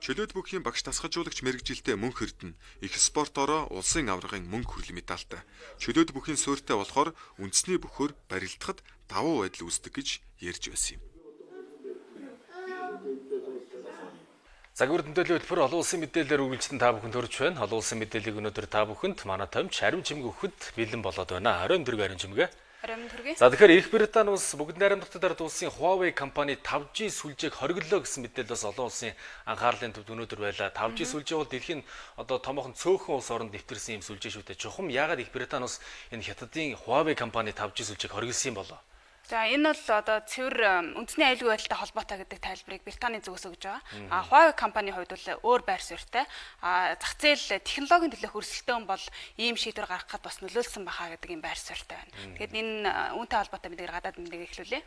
Чөлөөт бүхийн багш тасгалжуулагч мэрэгжилтэй мөнх эрдэнэ их спортороо улсын аваргын мөнгө хүрэл медальтай. Чөлөөт бүхийн суурьтай болохоор үндэсний бөхөр барилдахад давуу байдал үүсдэг гэж ярьж байсан юм. Загвар тэмдэглэлийн хөтөлбөр олон улсын мэдээлэлээр үргэлжлэн та бүхэнд хүрч байна. Олон улсын мэдээллийг өнөөдөр та бүхэнд манай томч Ариун чимэг өгөхөд бэлэн болоод байна. Ариун дөрөв Ариун чимэг. За тэгэхээр Их Британи улс бүгд найрамдагтад ард улсын Huawei компани five G сүлжээг хориглоо гэсэн мэдээлэл бас олон улсын анхаарлын төвд өнөөдөр байлаа. five G сүлжээ бол дэлхийн одоо томоохон цөөхөн улс оронд нэвтэрсэн юм сүлжээ шүү дээ. Чухам яагаад Их Британи улс энэ хятадын Huawei компани five G сүлжээг хориглосон юм болоо? За энэ бол одоо цэвэр үндэсний аюулгүй байдалтай холбоотой гэдэг тайлбарыг Британий зүгээс өгж байгаа. А Huawei компани хувьд бол өөр байр суурьтай. А зах зээл технологийн төлөөх өрсөлдөөн бол ийм шийдвэр гаргахад бас нөлөөлсөн бахаа гэдэг юм байр суурьтай байна. Тэгэхээр энэ үүнтэй холбоотой мэдээ гадаад мэдээ эхлүүлье.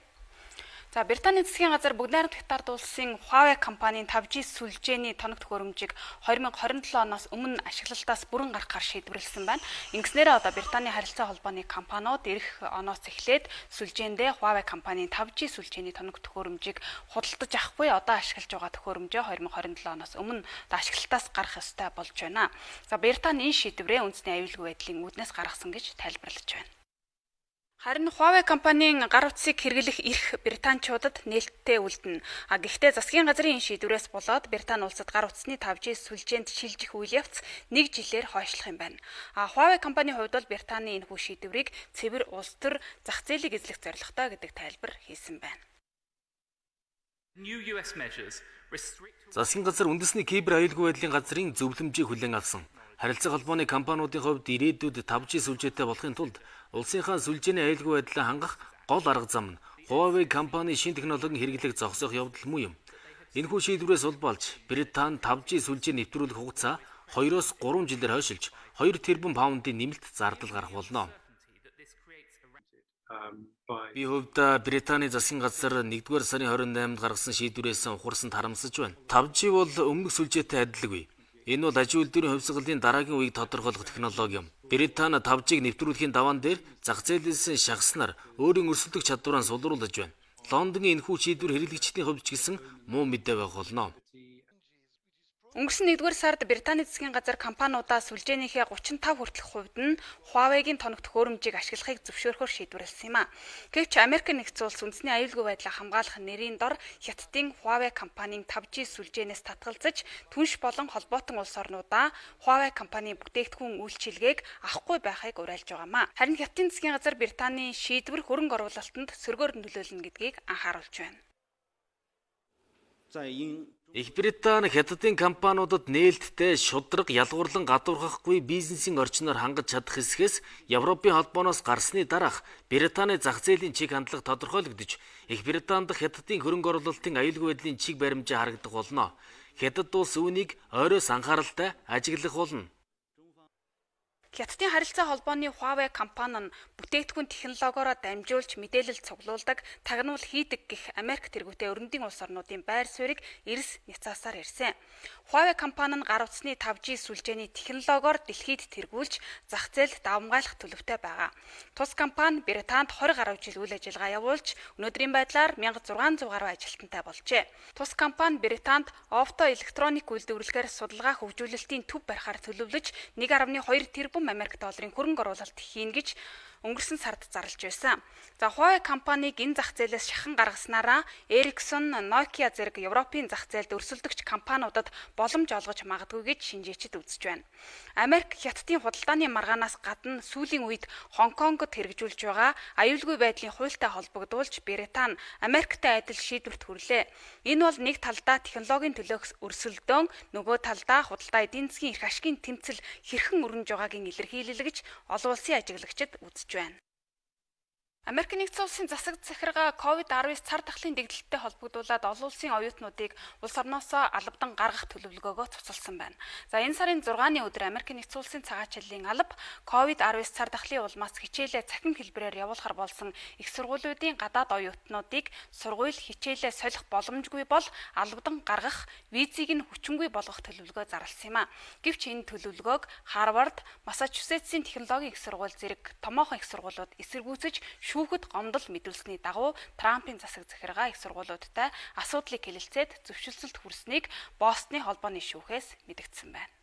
За Британий засгийн газар бүгд найрамдах ард улсын Huawei компанийн five G сүлжээний тоног төхөөрөмжийг twenty twenty-seven оноос өмнө ашиглалтаас бүрэн гаргахаар шийдвэрлсэн байна. Ингэснээр одоо Британий харилцаа холбооны компаниуд эх оноос эхлээд сүлжээндээ Huawei компанийн five G сүлжээний тоног төхөөрөмжийг худалдаж авахгүй одоо ашиглаж байгаа төхөөрөмжөө twenty twenty-seven оноос өмнө ашиглалтаас гарах ёстой болж байна. За Британи энэ шийдвэрээ үндэсний аюулгүй байдлын үүднээс гаргасан гэж тайлбарлаж байна. Харин Huawei компанийн гар утсыг хэрэглэх эрх британчуудад нээлттэй үлдэнэ. А гэхдээ засгийн газрын шийдвэрээс болоод Британи улсад гар утасны five G сүлжээнд шилжих үйл явц нэг жилээр хойшлох юм байна. А Huawei компанийн хувьд бол Британий энэхүү шийдвэрийг цэвэр улс төр зах зээлийг эзлэх зорилготой гэдэг тайлбар хийсэн байна. Засгийн газар үндэсний кибер аюулгүй байдлын газрын зөвлөмжийг хүлээн авсан. Харилцаа холбооны компаниудын хувьд ирээдүйд five G сүлжээтэй болохын тулд улсынхаа сүлжээний аюулгүй байдлаа хангах гол арга зам нь Huawei компани шинэ технологийн хэрэглээг зогсоох явдал муу юм. Энэхүү шийдвэрээс улбалж Британи five G сүлжээ нэвтрүүлэх хугацаа two-оос three жилээр хойшилж two тэрбум паундын нэмэлт зардал гарах болно. Би хувьдаа Британий засгийн газар нэгдүгээр сарын twenty-eighнд гаргасан шийдвэрээс ухарсан тарамсаж байна. five G бол өмнөх сүлжээтэй адилгүй. Энэ бол аж үйлдвэрийн хувьсгалын дараагийн үеийг тодорхойлох технологи юм. Британи five G-г нэвтрүүлэхийн даваан дээр зах зээлээс шахаснаар өөрийн өрсөлдөх чадвараа сулруулж байна. Лондонгийн энэхүү шийдвэр хэрэглэгчдийн хувьд ч гэсэн муу мэдээ байх болно. Өнгөрсөн нэгдүгээр сард Британий засгийн газар компаниудаа сүлжээнийхээ thirty-five хүртэлх хувьд нь Huawei-гийн тоног төхөөрөмжийг ашиглахыг зөвшөөрөхөөр шийдвэрлсэн юм а. Гэвч Америк нэгдсэн улс үндэсний аюулгүй байдлаа хамгаалах нэрийн дор Хятадын Huawei компанийн five G сүлжээнээс татгалзаж түнш болон холбоотон улс орнуудаа Huawei компани бүтээгдэхүүн үйлчилгээг авахгүй байхыг уриалж байгаа юм а. Харин Хятадын засгийн газар Британий шийдвэр хөрөнгө оруулалтанд сөргөөр нөлөөлнө гэдгийг анхааруулж байна. За энэ Их Британи Хятадын компаниудад нээлттэй шудраг ялгуурлан гадуурхахгүй бизнесийн орчноор хангаж чадах хэсгээс Европын холбооноос гарсны дараах Британий зах зээлийн чиг хандлага тодорхойлогдож, Их Британд Хятадын хөрөнгө оруулалтын аюулгүй байдлын чиг баримжаа харагдах болно. Хятад улс үүнийг ойроос анхааралтай ажиглах болно. Хятадын харилцаа холбооны Huawei компани нь бүтээгдэхүүн технологиороо дамжуулж мэдээлэл цуглуулдаг, тагнуул хийдэг гэх Америк тэргүүтэй өрөндийн улс орнуудын байр суурийг эрс няцаасаар ирсэн. Huawei компани нь гар утасны five G сүлжээний технологиор дэлхийд тэргүүлж зах зээлд давмгайлах төлөвтэй байгаа. Тус компани Британд twenty гаруй жил үйл ажиллагаа явуулж өнөөдрийн байдлаар six thousand six hundred гаруй ажилтнтай болжээ. Тус компани Британд оптоэлектроник үйлдвэрлэхээр судалгаа хөгжүүлэлтийн төв барихаар төлөвлөж one point two тэрбум Америк долларын хөрөнгө оруулалт хийн гэж өнгөрсөн сард зарлж байсан. За Huawei компаниг энэ зах зээлээс шахан гаргаснараа Ericsson, Nokia зэрэг Европын зах зээлд өрсөлдөгч компаниудад боломж олгож магадгүй гэж шинжээчид үзэж байна. Америк Хятадын худалдааны маргаанаас гадна сүүлийн үед Хонконгод хэрэгжүүлж байгаа аюулгүй байдлын хуультай холбогдуулж Британи Америктай адил шийдвэрт хүрлээ. Энэ бол нэг талдаа технологийн төлөөх өрсөлдөөн, нөгөө талдаа худалдаа эдийн засгийн эрх ашигын тэмцэл хэрхэн өрнөж байгаагийн илэрхийлэл гэж олон улсын ажиглагчид үзэж байна. Америк нэгдсэн улсын засаг захиргаа ковид nineteen цар тахлын дэгдэлттэй холбогдуулаад олон улсын оюутнуудыг улс орноосоо албадан гаргах төлөвлөгөөгөө цуцалсан байна. За энэ сарын six-ны өдөр Америк нэгдсэн улсын цагаачлалын алба ковид nineteen цар тахлын улмаас хичээлээ цахим хэлбэрээр явуулахар болсон их сургуулиудын гадаад оюутнуудыг сургууль хичээлээ солих боломжгүй бол албадан гаргах, визийг нь хүчингүй болгох төлөвлөгөө зарласан юм а. Гэвч энэ төлөвлөгөөг Харвард, Массачусетсийн технологийн их сургууль зэрэг томоохон их сургуулиуд эсэргүүцэж шүүхэд гомдол мэдүүлсэний дагуу Трампын засаг захиргаа их сургуулиудтай асуудлыг хэлэлцээд зөвшөлтсөлд хүрснийг Бостны холбооны шүүхээс мэдэгдсэн байна.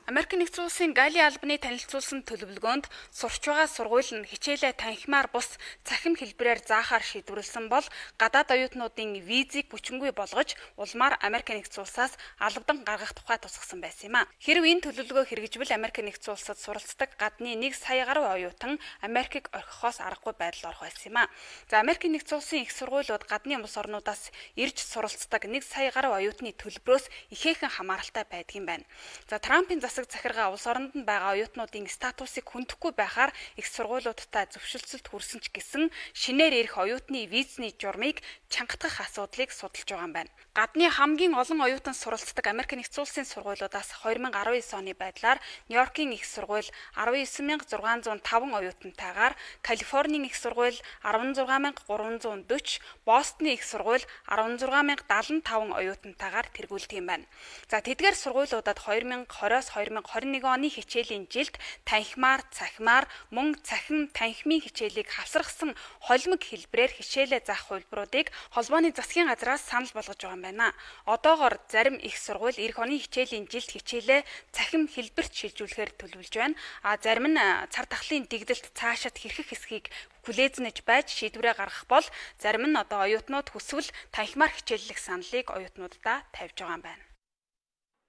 Америк нэгдсэн улсын Гали албаны танилцуулсан төлөвлөгөөнд сурч байгаа сургууль нь хичээлээ танхимаар бус цахим хэлбэрээр заахаар шийдвэрлсэн бол гадаад оюутнуудын визийг бүчингүй болгож улмаар Америк нэгдсэн улсаас албадан гаргах тухай тусгасан байсан юм а. Хэрв энэ төлөвлөгөө хэрэгжвэл Америк нэгдсэн улсад суралцдаг гадны нэг сая гаруй оюутан Америкийг орхихоос аргагүй байдал орох байсан юм а. За Америк нэгдсэн улсын их сургуулиуд гадны улс орнуудаас ирж суралцдаг нэг сая гаруй оюутны төлбөрөөс ихээхэн хамааралтай байдгийн байна. За Трампын засаг захиргаа улс оронд нь байгаа оюутнуудын статусыг хүндэхгүй байхаар их сургуулиудтай зөвшөлтсөлд хүрсэн ч гэсэн шинээр ирэх оюутны визний журмыг чангатгах асуудлыг судалж байгаа юм байна. Гадны хамгийн олон оюутан суралцдаг Америк нэгдсэн улсын сургуулиудаас две тысячи десять оны байдлаар Нью-Йоркийн их сургууль десять thousand six hundred five оюутантайгаар, Калифорнийн их сургууль sixteen thousand three hundred forty, Бостны их сургууль sixteen thousand seventy-five оюутантайгаар тэргүүлдэг юм байна. За тэдгээр сургуулиудад twenty twenty-оос twenty twenty-one оны хичээлийн жилд танхимаар, цахимаар, мөн цахим танхимын хичээлийг хавсрахсан холимог хэлбэрээр хичээлээ заах хувилбаруудыг холбооны засгийн газраас санал болгож байгаа юм байна. Одоогоор зарим их сургууль эх оны хичээлийн жилд хичээлээ цахим хэлбэрт шилжүүлэхээр төлөвлөж байна. А зарим нь цар тахлын дэгдэлт цаашид хэрхэх хэсгийг хүлээзнэж байж шийдвэрээ гаргах бол зарим нь одоо оюутнууд хүсвэл танхимаар хичээллэх саналыг оюутнуудаа тавьж байгаа юм байна.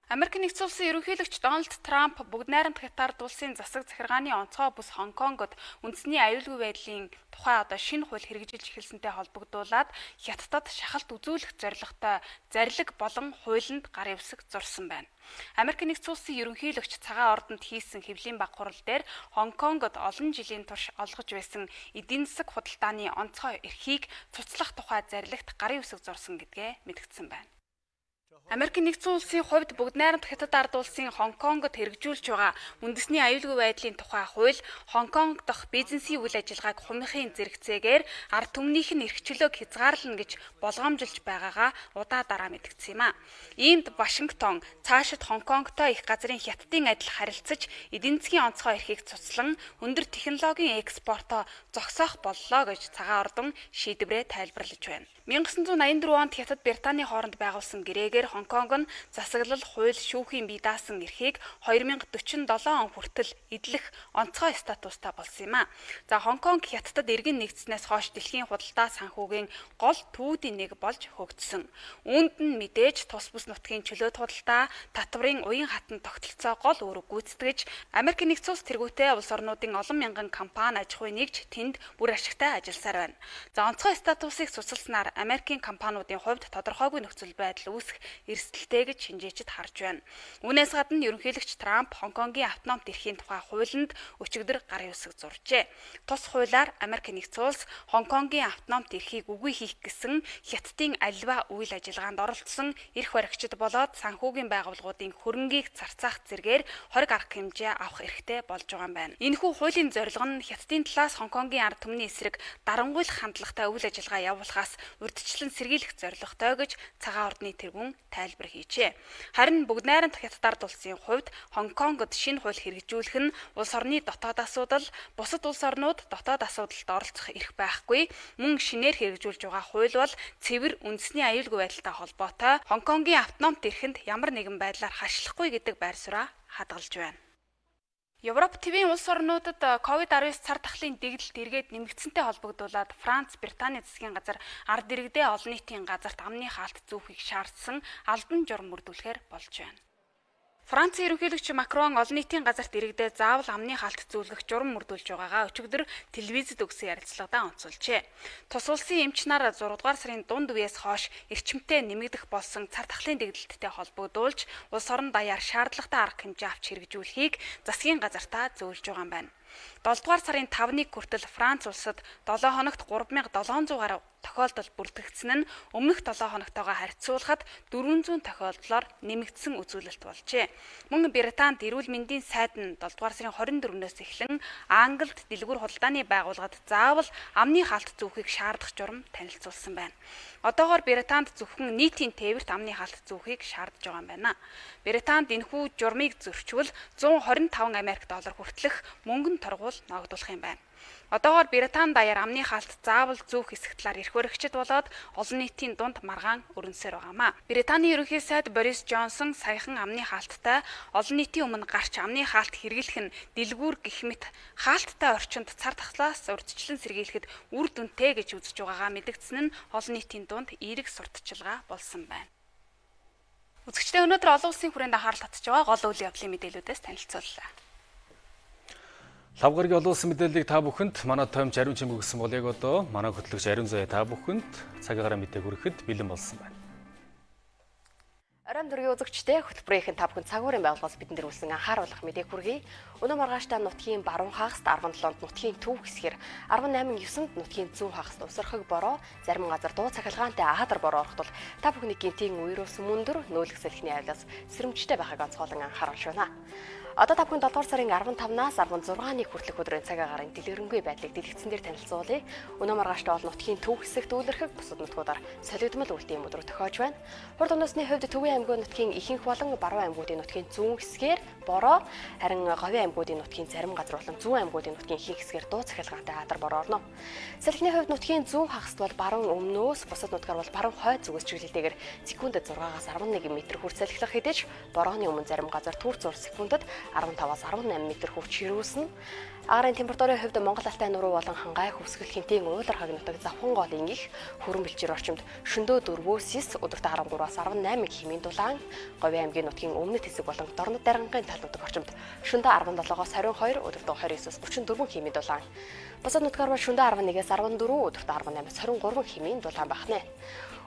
Америк нэгдсэн улсын ерөнхийлөгч Дональд Трамп бүгд найрамд Хятад улсын засаг захиргааны онцгой бүс Хонконгод үндэсний аюулгүй байдлын тухай одоо шинэ хууль хэрэгжилж эхэлсэнтэй холбогдуулаад Хятадд шахалт үзүүлэх зорилготой зарлиг болон хуулинд гар явсаг зурсан байна. Америк нэгдсэн улсын ерөнхийлөгч цагаан ордонд хийсэн хэвлийн баг хурал дээр Хонконгод олон жилийн турш олгож байсан эдийн засаг худалдааны онцгой эрхийг цуцлах тухай зарлагт гарын үсэг зурсан гэдгээ мэдгдсэн байна. Америк нэгдсэн улсын хувьд бүгд найрамд Хятад ард улсын Хонконгод хэрэгжүүлж байгаа үндэсний аюулгүй байдлын тухай хууль Хонконг дахь бизнесийн үйл ажиллагааг хумихын зэрэгцээгээр ард түмнийх нь эрхчлөөг хязгаарлана гэж болгоомжилж байгаагаа удаа дараа мэдгдсэн юм а. Иймд Вашингтон цаашид Хонконгтой их газрын Хятадын адил харилцаж эдийн засгийн онцгой эрхийг цуцлан өндөр технологийн экспортоо зогсоох боллоо гэж цагаан ордон шийдвэрээ тайлбарлаж байна. nineteen eighty-four онд Хятад Британий хооронд байгуулсан гэрээгээр Хонконг нь засаглал, хууль, шүүхийн бие даасан эрхийг twenty forty-seven он хүртэл эдлэх онцгой статустай болсон юм а. За Хонконг Хятадд иргэн нэгдснээс хойш дэлхийн худалдаа санхүүгийн гол төвүүдийн нэг болж хөгжсөн. Үүнд нь мэдээж тус бүс нутгийн чөлөөт худалдаа, татварын уян хатан тогтолцоо гол үүрэг гүйцэтгэж, Америк нэгдсэн улс тэргүүтээ улс орнуудын олон мянган компани аж ахуй нэгж тэнд бүр ашигтай ажилласаар байна. За онцгой статусыг цуцалснаар Америкийн компаниудын хувьд тодорхойгүй нөхцөл байдал үүсэх эрсдэлтэй гэж шинжээчид харж байна. Үүнээс гадна ерөнхийлөгч Трамп Хонконгийн автономт эрхийн тухай хуулинд өчигдөр гарын үсэг зуржээ. Тус хуулиар Америк нэгдсэн улс Хонконгийн автономт эрхийг үгүй хийх гэсэн Хятадын аливаа үйл ажиллагаанд оролцсон эрх баригчид болоод санхүүгийн байгууллагуудын хөрөнгийг зарцаах зэргээр хориг арга хэмжээ авах эрхтэй болж байгаа юм байна. Энэхүү хуулийн зорилго нь Хятадын талаас Хонконгийн ард түмний эсрэг дарангуйлах хандлагатай үйл ажиллагаа явуулахаас урьдчилан сэргийлэх зорилготой гэж цагаан ордны тэргүүн тайлбар хийжээ. Харин бүгд найрамд Хятад ард улсын хувьд Хонконгод шинэ хууль хэрэгжүүлэх нь улс орны дотоод асуудал, бусад улс орнууд дотоод асуудалд оролцох эрх байхгүй. Мөн шинээр хэрэгжүүлж байгаа хууль бол цэвэр үндэсний аюулгүй байдалтай холбоотой Хонконгийн автономт эрхэнд ямар нэгэн байдлаар хашлахгүй гэдэг байр сууриа хадгалж байна. Европ твийн улс орнуудад ковид nineteen цар тахлын дэгдэлт эргээд нэмэгдсэнтэй холбогдуулаад Франц, Британий засгийн газар ард иргэдээ олон нийтийн газарт амны хаалт зүүхийг шаардсан албан журам мөрдүүлэхээр болж байна. Францын ерөнхийлөгч Макрон олон нийтийн газарт иргэдээ заавал амны хаалт зүүлгэх журам мөрдүүлж байгаагаа өчигдөр телевизэд өгсөн ярилцлагадаа онцолжээ. Тус улсын эмч нар six дугаар сарын дунд үеэс хойш эрчимтэй нэмэгдэх болсон цар тахлын дэгдэлттэй холбогдуулж улс орон даяар шаардлагатай арга хэмжээ авч хэрэгжүүлэхийг засгийн газартаа зөвлөж байгаа юм байна. seven дугаар сарын five-ны хүртэл Франц улсад seven хоногт three thousand seven hundred гаруй тохиолдол бүртгэгдсэн нь өмнөх seven хоногтойгоо харьцуулахад four hundred тохиолдлоор нэмэгдсэн үзүүлэлт болжээ. Мөн Британд эрүүл мэндийн сайд нь seven дугаар сарын twenty-fourнөөс эхлэн Англид дэлгүүр худалдааны байгууллагад заавал амны хаалт зүүхийг шаардах журам танилцуулсан байна. Одоогоор Британд зөвхөн нийтийн тээвэрт амны хаалт зүүхийг шаардж байгаа юм байна. Британд энэхүү журмыг зөрчвөл one hundred twenty-five Америк доллар хүртэлх мөнгөн торгуул ногдуулах юм байна. Одоогоор Британи даяар амны хаалт заавал зүүх хэсэг талаар эрх баригчид болоод олон нийтийн дунд маргаан өрнөсөр байгаамаа. Британий ерөнхий сайд Борис Джонсон саяхан амны хаалттай олон нийтийн өмнө гарч амны хаалт хэрэглэх нь дэлгүүр гэх мэт хаалттай орчинд цар тахлаас урьдчилан сэргийлэхэд үр дүнтэй гэж үзэж байгаагаа мэдгдсэн нь олон нийтийн дунд эерэг сурталчилгаа болсон байна. Үзэгчдээ өнөөдөр олон улсын хүрээнд анхаарал татж байгаа гол үйл явдлын мэдээллүүдээс танилцууллаа. Лав гарагийн олон улсын мэдээллийг та бүхэнд манай томч Ариун Чимэг өгсөн бол яг одоо манай хөтлөгч Ариун Заяа та бүхэнд цагаараа мэдээг хүрэхэд бэлэн болсон байна. Оройн дөргийн үзэгчдээ хөтөлбөрийн та бүхэн цагуурын байгууллагаас бидэнд ирүүлсэн анхааруулах мэдээг хүргэе. Өнөө маргааштай нутгийн баруун хагаст арван долоонд нутгийн төв хэсгээр арван найман евсэнд нутгийн зүүн хагаст усрахыг бороо зарим газар дуу цахилгаантай аадар бороо орох тул та бүхний гинтийн үерөөс мөндөр нөөлөх салхины авилаас сэрэмжтэй байхыг онцгойлон анхааруулж байна. Одоо та бүхэн долдугаар сарын арван тавнаас арван зургааны хүртэлх өдрийн цаг агарын дэлгэрэнгүй байдлыг дэлгэцэн дээр танилцуулъя. Өнөө маргааштай бол нутгийн төв хэсэгт үйлэрхэг бусад нутгуудаар солигдмол үйлдэл өдрүүд тохиож байна. Хурд өнөөсний хувьд Төвийн аймгийн нутгийн ихэнх болон баруун аймгуудын нутгийн зүүн хэсгээр бороо, харин Говийн аймгуудын нутгийн зарим газар болон зүүн аймгуудын нутгийн ихэнх хэсгээр дуу цахилгаантай аадар бороо орно. Салхины хувьд нутгийн зүүн хагаст бол баруун өмнөөс бусад нутгаар бол баруун хойд зүгээс чиглэлтэйгээр секундэд зургаас арван нэг метр хүртэл салхилах хэдиж борооны өмнө зарим газар түр зур секундэд арван таваас арван найман метр хүрч ирүүлсэн. Агарын температурын хувьд Монгол алтай нуруу болон хангай хөвсгөл хинтийн уулар хаг нутаг завхан голын их хөрөн бэлчээр орчимд шөндөө дөрвөөс өдөрт арван гураас арван найман хэмээн дулаан, Говийн аймгийн нутгийн өмнөд хэсэг болон Дорнод даргангийн тал нутаг орчимд шөндөө арван долоогоос хорин хоёр, өдөрт хорин есээс гучин дөрвөн хэмээн дулаан. Бусад нутгаар бол шөндөө арван нэгээс арван дөрвөн, өдөрт арван наймаас хорин гурван хэмээн дулаан бахнэ.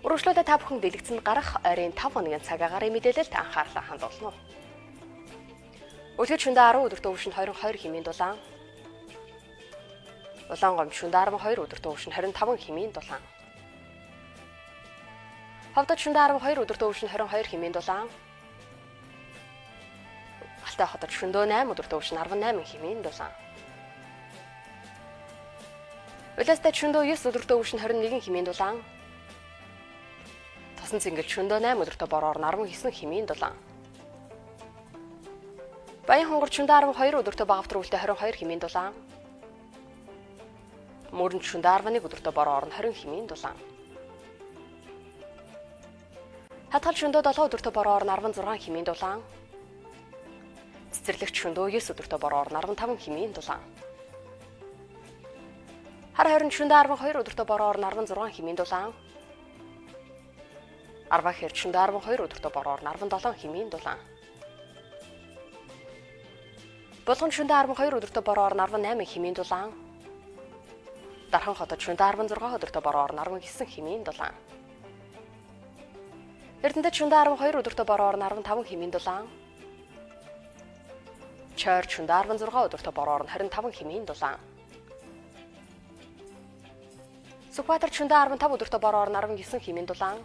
Өргөжлөлтөд та бүхэн дэлгэцэнд гарах ойрын тав хоногийн цаг агарын мэдээлэлд анхаарлаа хандуулна. Өдөрт шөндөө арав, өдөрт өвшин хорин хоёр хэмээн дулаан. Улаан гомд шөндөө арван хоёр, өдөрт өвшин хорин таван хэмээн дулаан. Ховдод шөндөө арван хоёр, өдөрт өвшин хорин хоёр хэмээн дулаан. Алтай хотод шөндөө найм, өдөрт өвшин арван найман хэмээн дулаан. Улаастай шөндөө ёс, өдөрт өвшин хорин нэгэн хэмээн дулаан. Тосон цэнгэл шөндөө найм, өдөрт бороор арван девять хэмээн дулаан. Баян хонгор шөндөө арван хоёр, өдөрт багавтар үлдээ хорин хоёр хэмээн дулаан. Мөрөнд шөндөө арван нэг, өдөрт бороор хорин хэмээн дулаан. Хатгал шөндөө долоо, өдөрт бороор арван зургаан хэмээн дулаан. Цэцэрлэгч шөндөө девять, өдөрт бороор арван таван хэмээн дулаан. Хар хорин шөндөө арван хоёр, өдөрт бороор арван зургаан хэмээн дулаан. Арва хэр шөндөө арван хоёр, өдөрт бороор арван долоон хэмээн дулаан. Болгон шөндөө арван хоёр, өдөрт бороор арван найман хэмээн дулаан. Дархан хотод шөндөө арван зургаан, өдөрт бороор арван девять хэмээн дулаан. Эрдэнэт шөндөө арван хоёр, өдөрт бороор арван таван хэмээн дулаан. Чойр шөндөө арван зургаан, өдөрт бороор хорин таван хэмээн дулаан. Сүхбаатар шөндөө арван тав, өдөрт бороор арван девять хэмээн дулаан.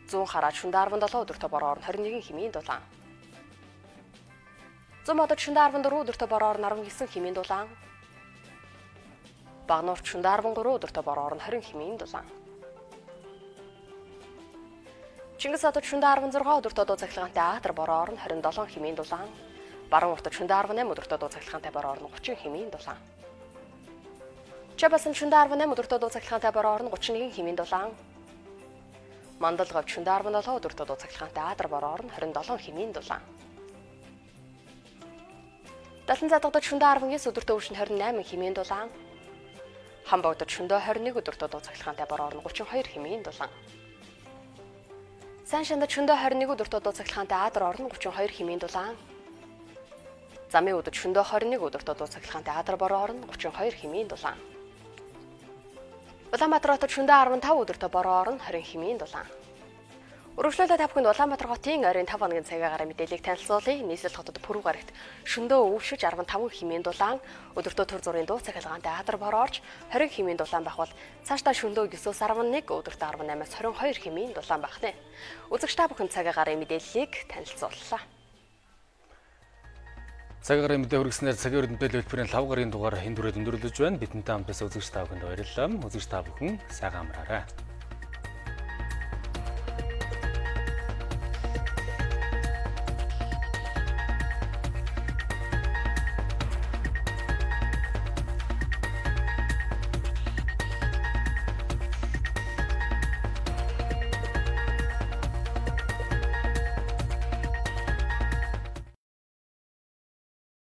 Зүүн хараа шөндөө арван долоо, өдөрт бороор хорин нэг хэмээн дулаан. Зүүн модод шөндөө арван дөрөв, өдөрт бороор арван девять хэмээн дулаан. Багнуурт шөндөө арван гурав, өдөрт бороор хорин хэмээн дулаан. Чингис хотод шөндөө арван зургаан, өдөрт дуу цахилгаантай аадар бороор хорин долоон хэмээн дулаан. Баруун уртад шөндөө арван найман, өдөрт дуу цахилгаантай бороор гучин хэмээн дулаан. Чабасан шөндөө арван найман, өдөрт дуу цахилгаантай бороор гучин нэг хэмээн дулаан. Мандалгав шөндөө арван долоо, өдөрт дуу цахилгаантай аадар бороор хорин долоон хэмээн дулаан. Далан задгадад шөндөө арван девять, өдөрт өвшин хорин найман хэмээн дулаан. Хамбогдод шөндөө хорин нэг, өдөрт дуу цахилгаантай бороор гучин хоёр хэмээн дулаан. Сан шандад шөндөө хорин нэг, өдөрт дуу цахилгаантай аадар орно гучин хоёр хэмээн дулаан. Замын өдөрт шөндөө хорин нэг, өдөрт дуу цахилгаантай аадар бороо орно гучин хоёр хэмээн дулаан. Улаанбаатар хотод шөндөө арван тав, өдөрт бороо орно хорин хэмээн дулаан. Өргөжлөлтөд та бүхэнд Улаанбаатар хотын ойрын тав хоногийн цагаагаар мэдээллийг танилцуулъя. Нийслэл хотод Пүрэв гарагт шөндөө өвшөж арван таван хэмээн дулаан, өдөртөө түр зургийн дуу цахилгаантай аадар бороо орж хорин хэмээн дулаан байх бол цаашдаа шөндөө девять-өөс арван нэг, өдөртөө арван наймаас хорин хоёр хэмээн дулаан бахнэ. Үзэгч та бүхэнд цагаагаар мэдээллийг танилцууллаа. Цагаагаар мэдээ хүргэснээр цагийн өрдөнтэй хэлбэрийн лав гарын дугаар энэ дүрээр өндөрлөж байна. Бидэнтэй хамт байсан үзэгч та бүхэнд баярлалаа. Үзэгч та бүхэн сайхан амраарай.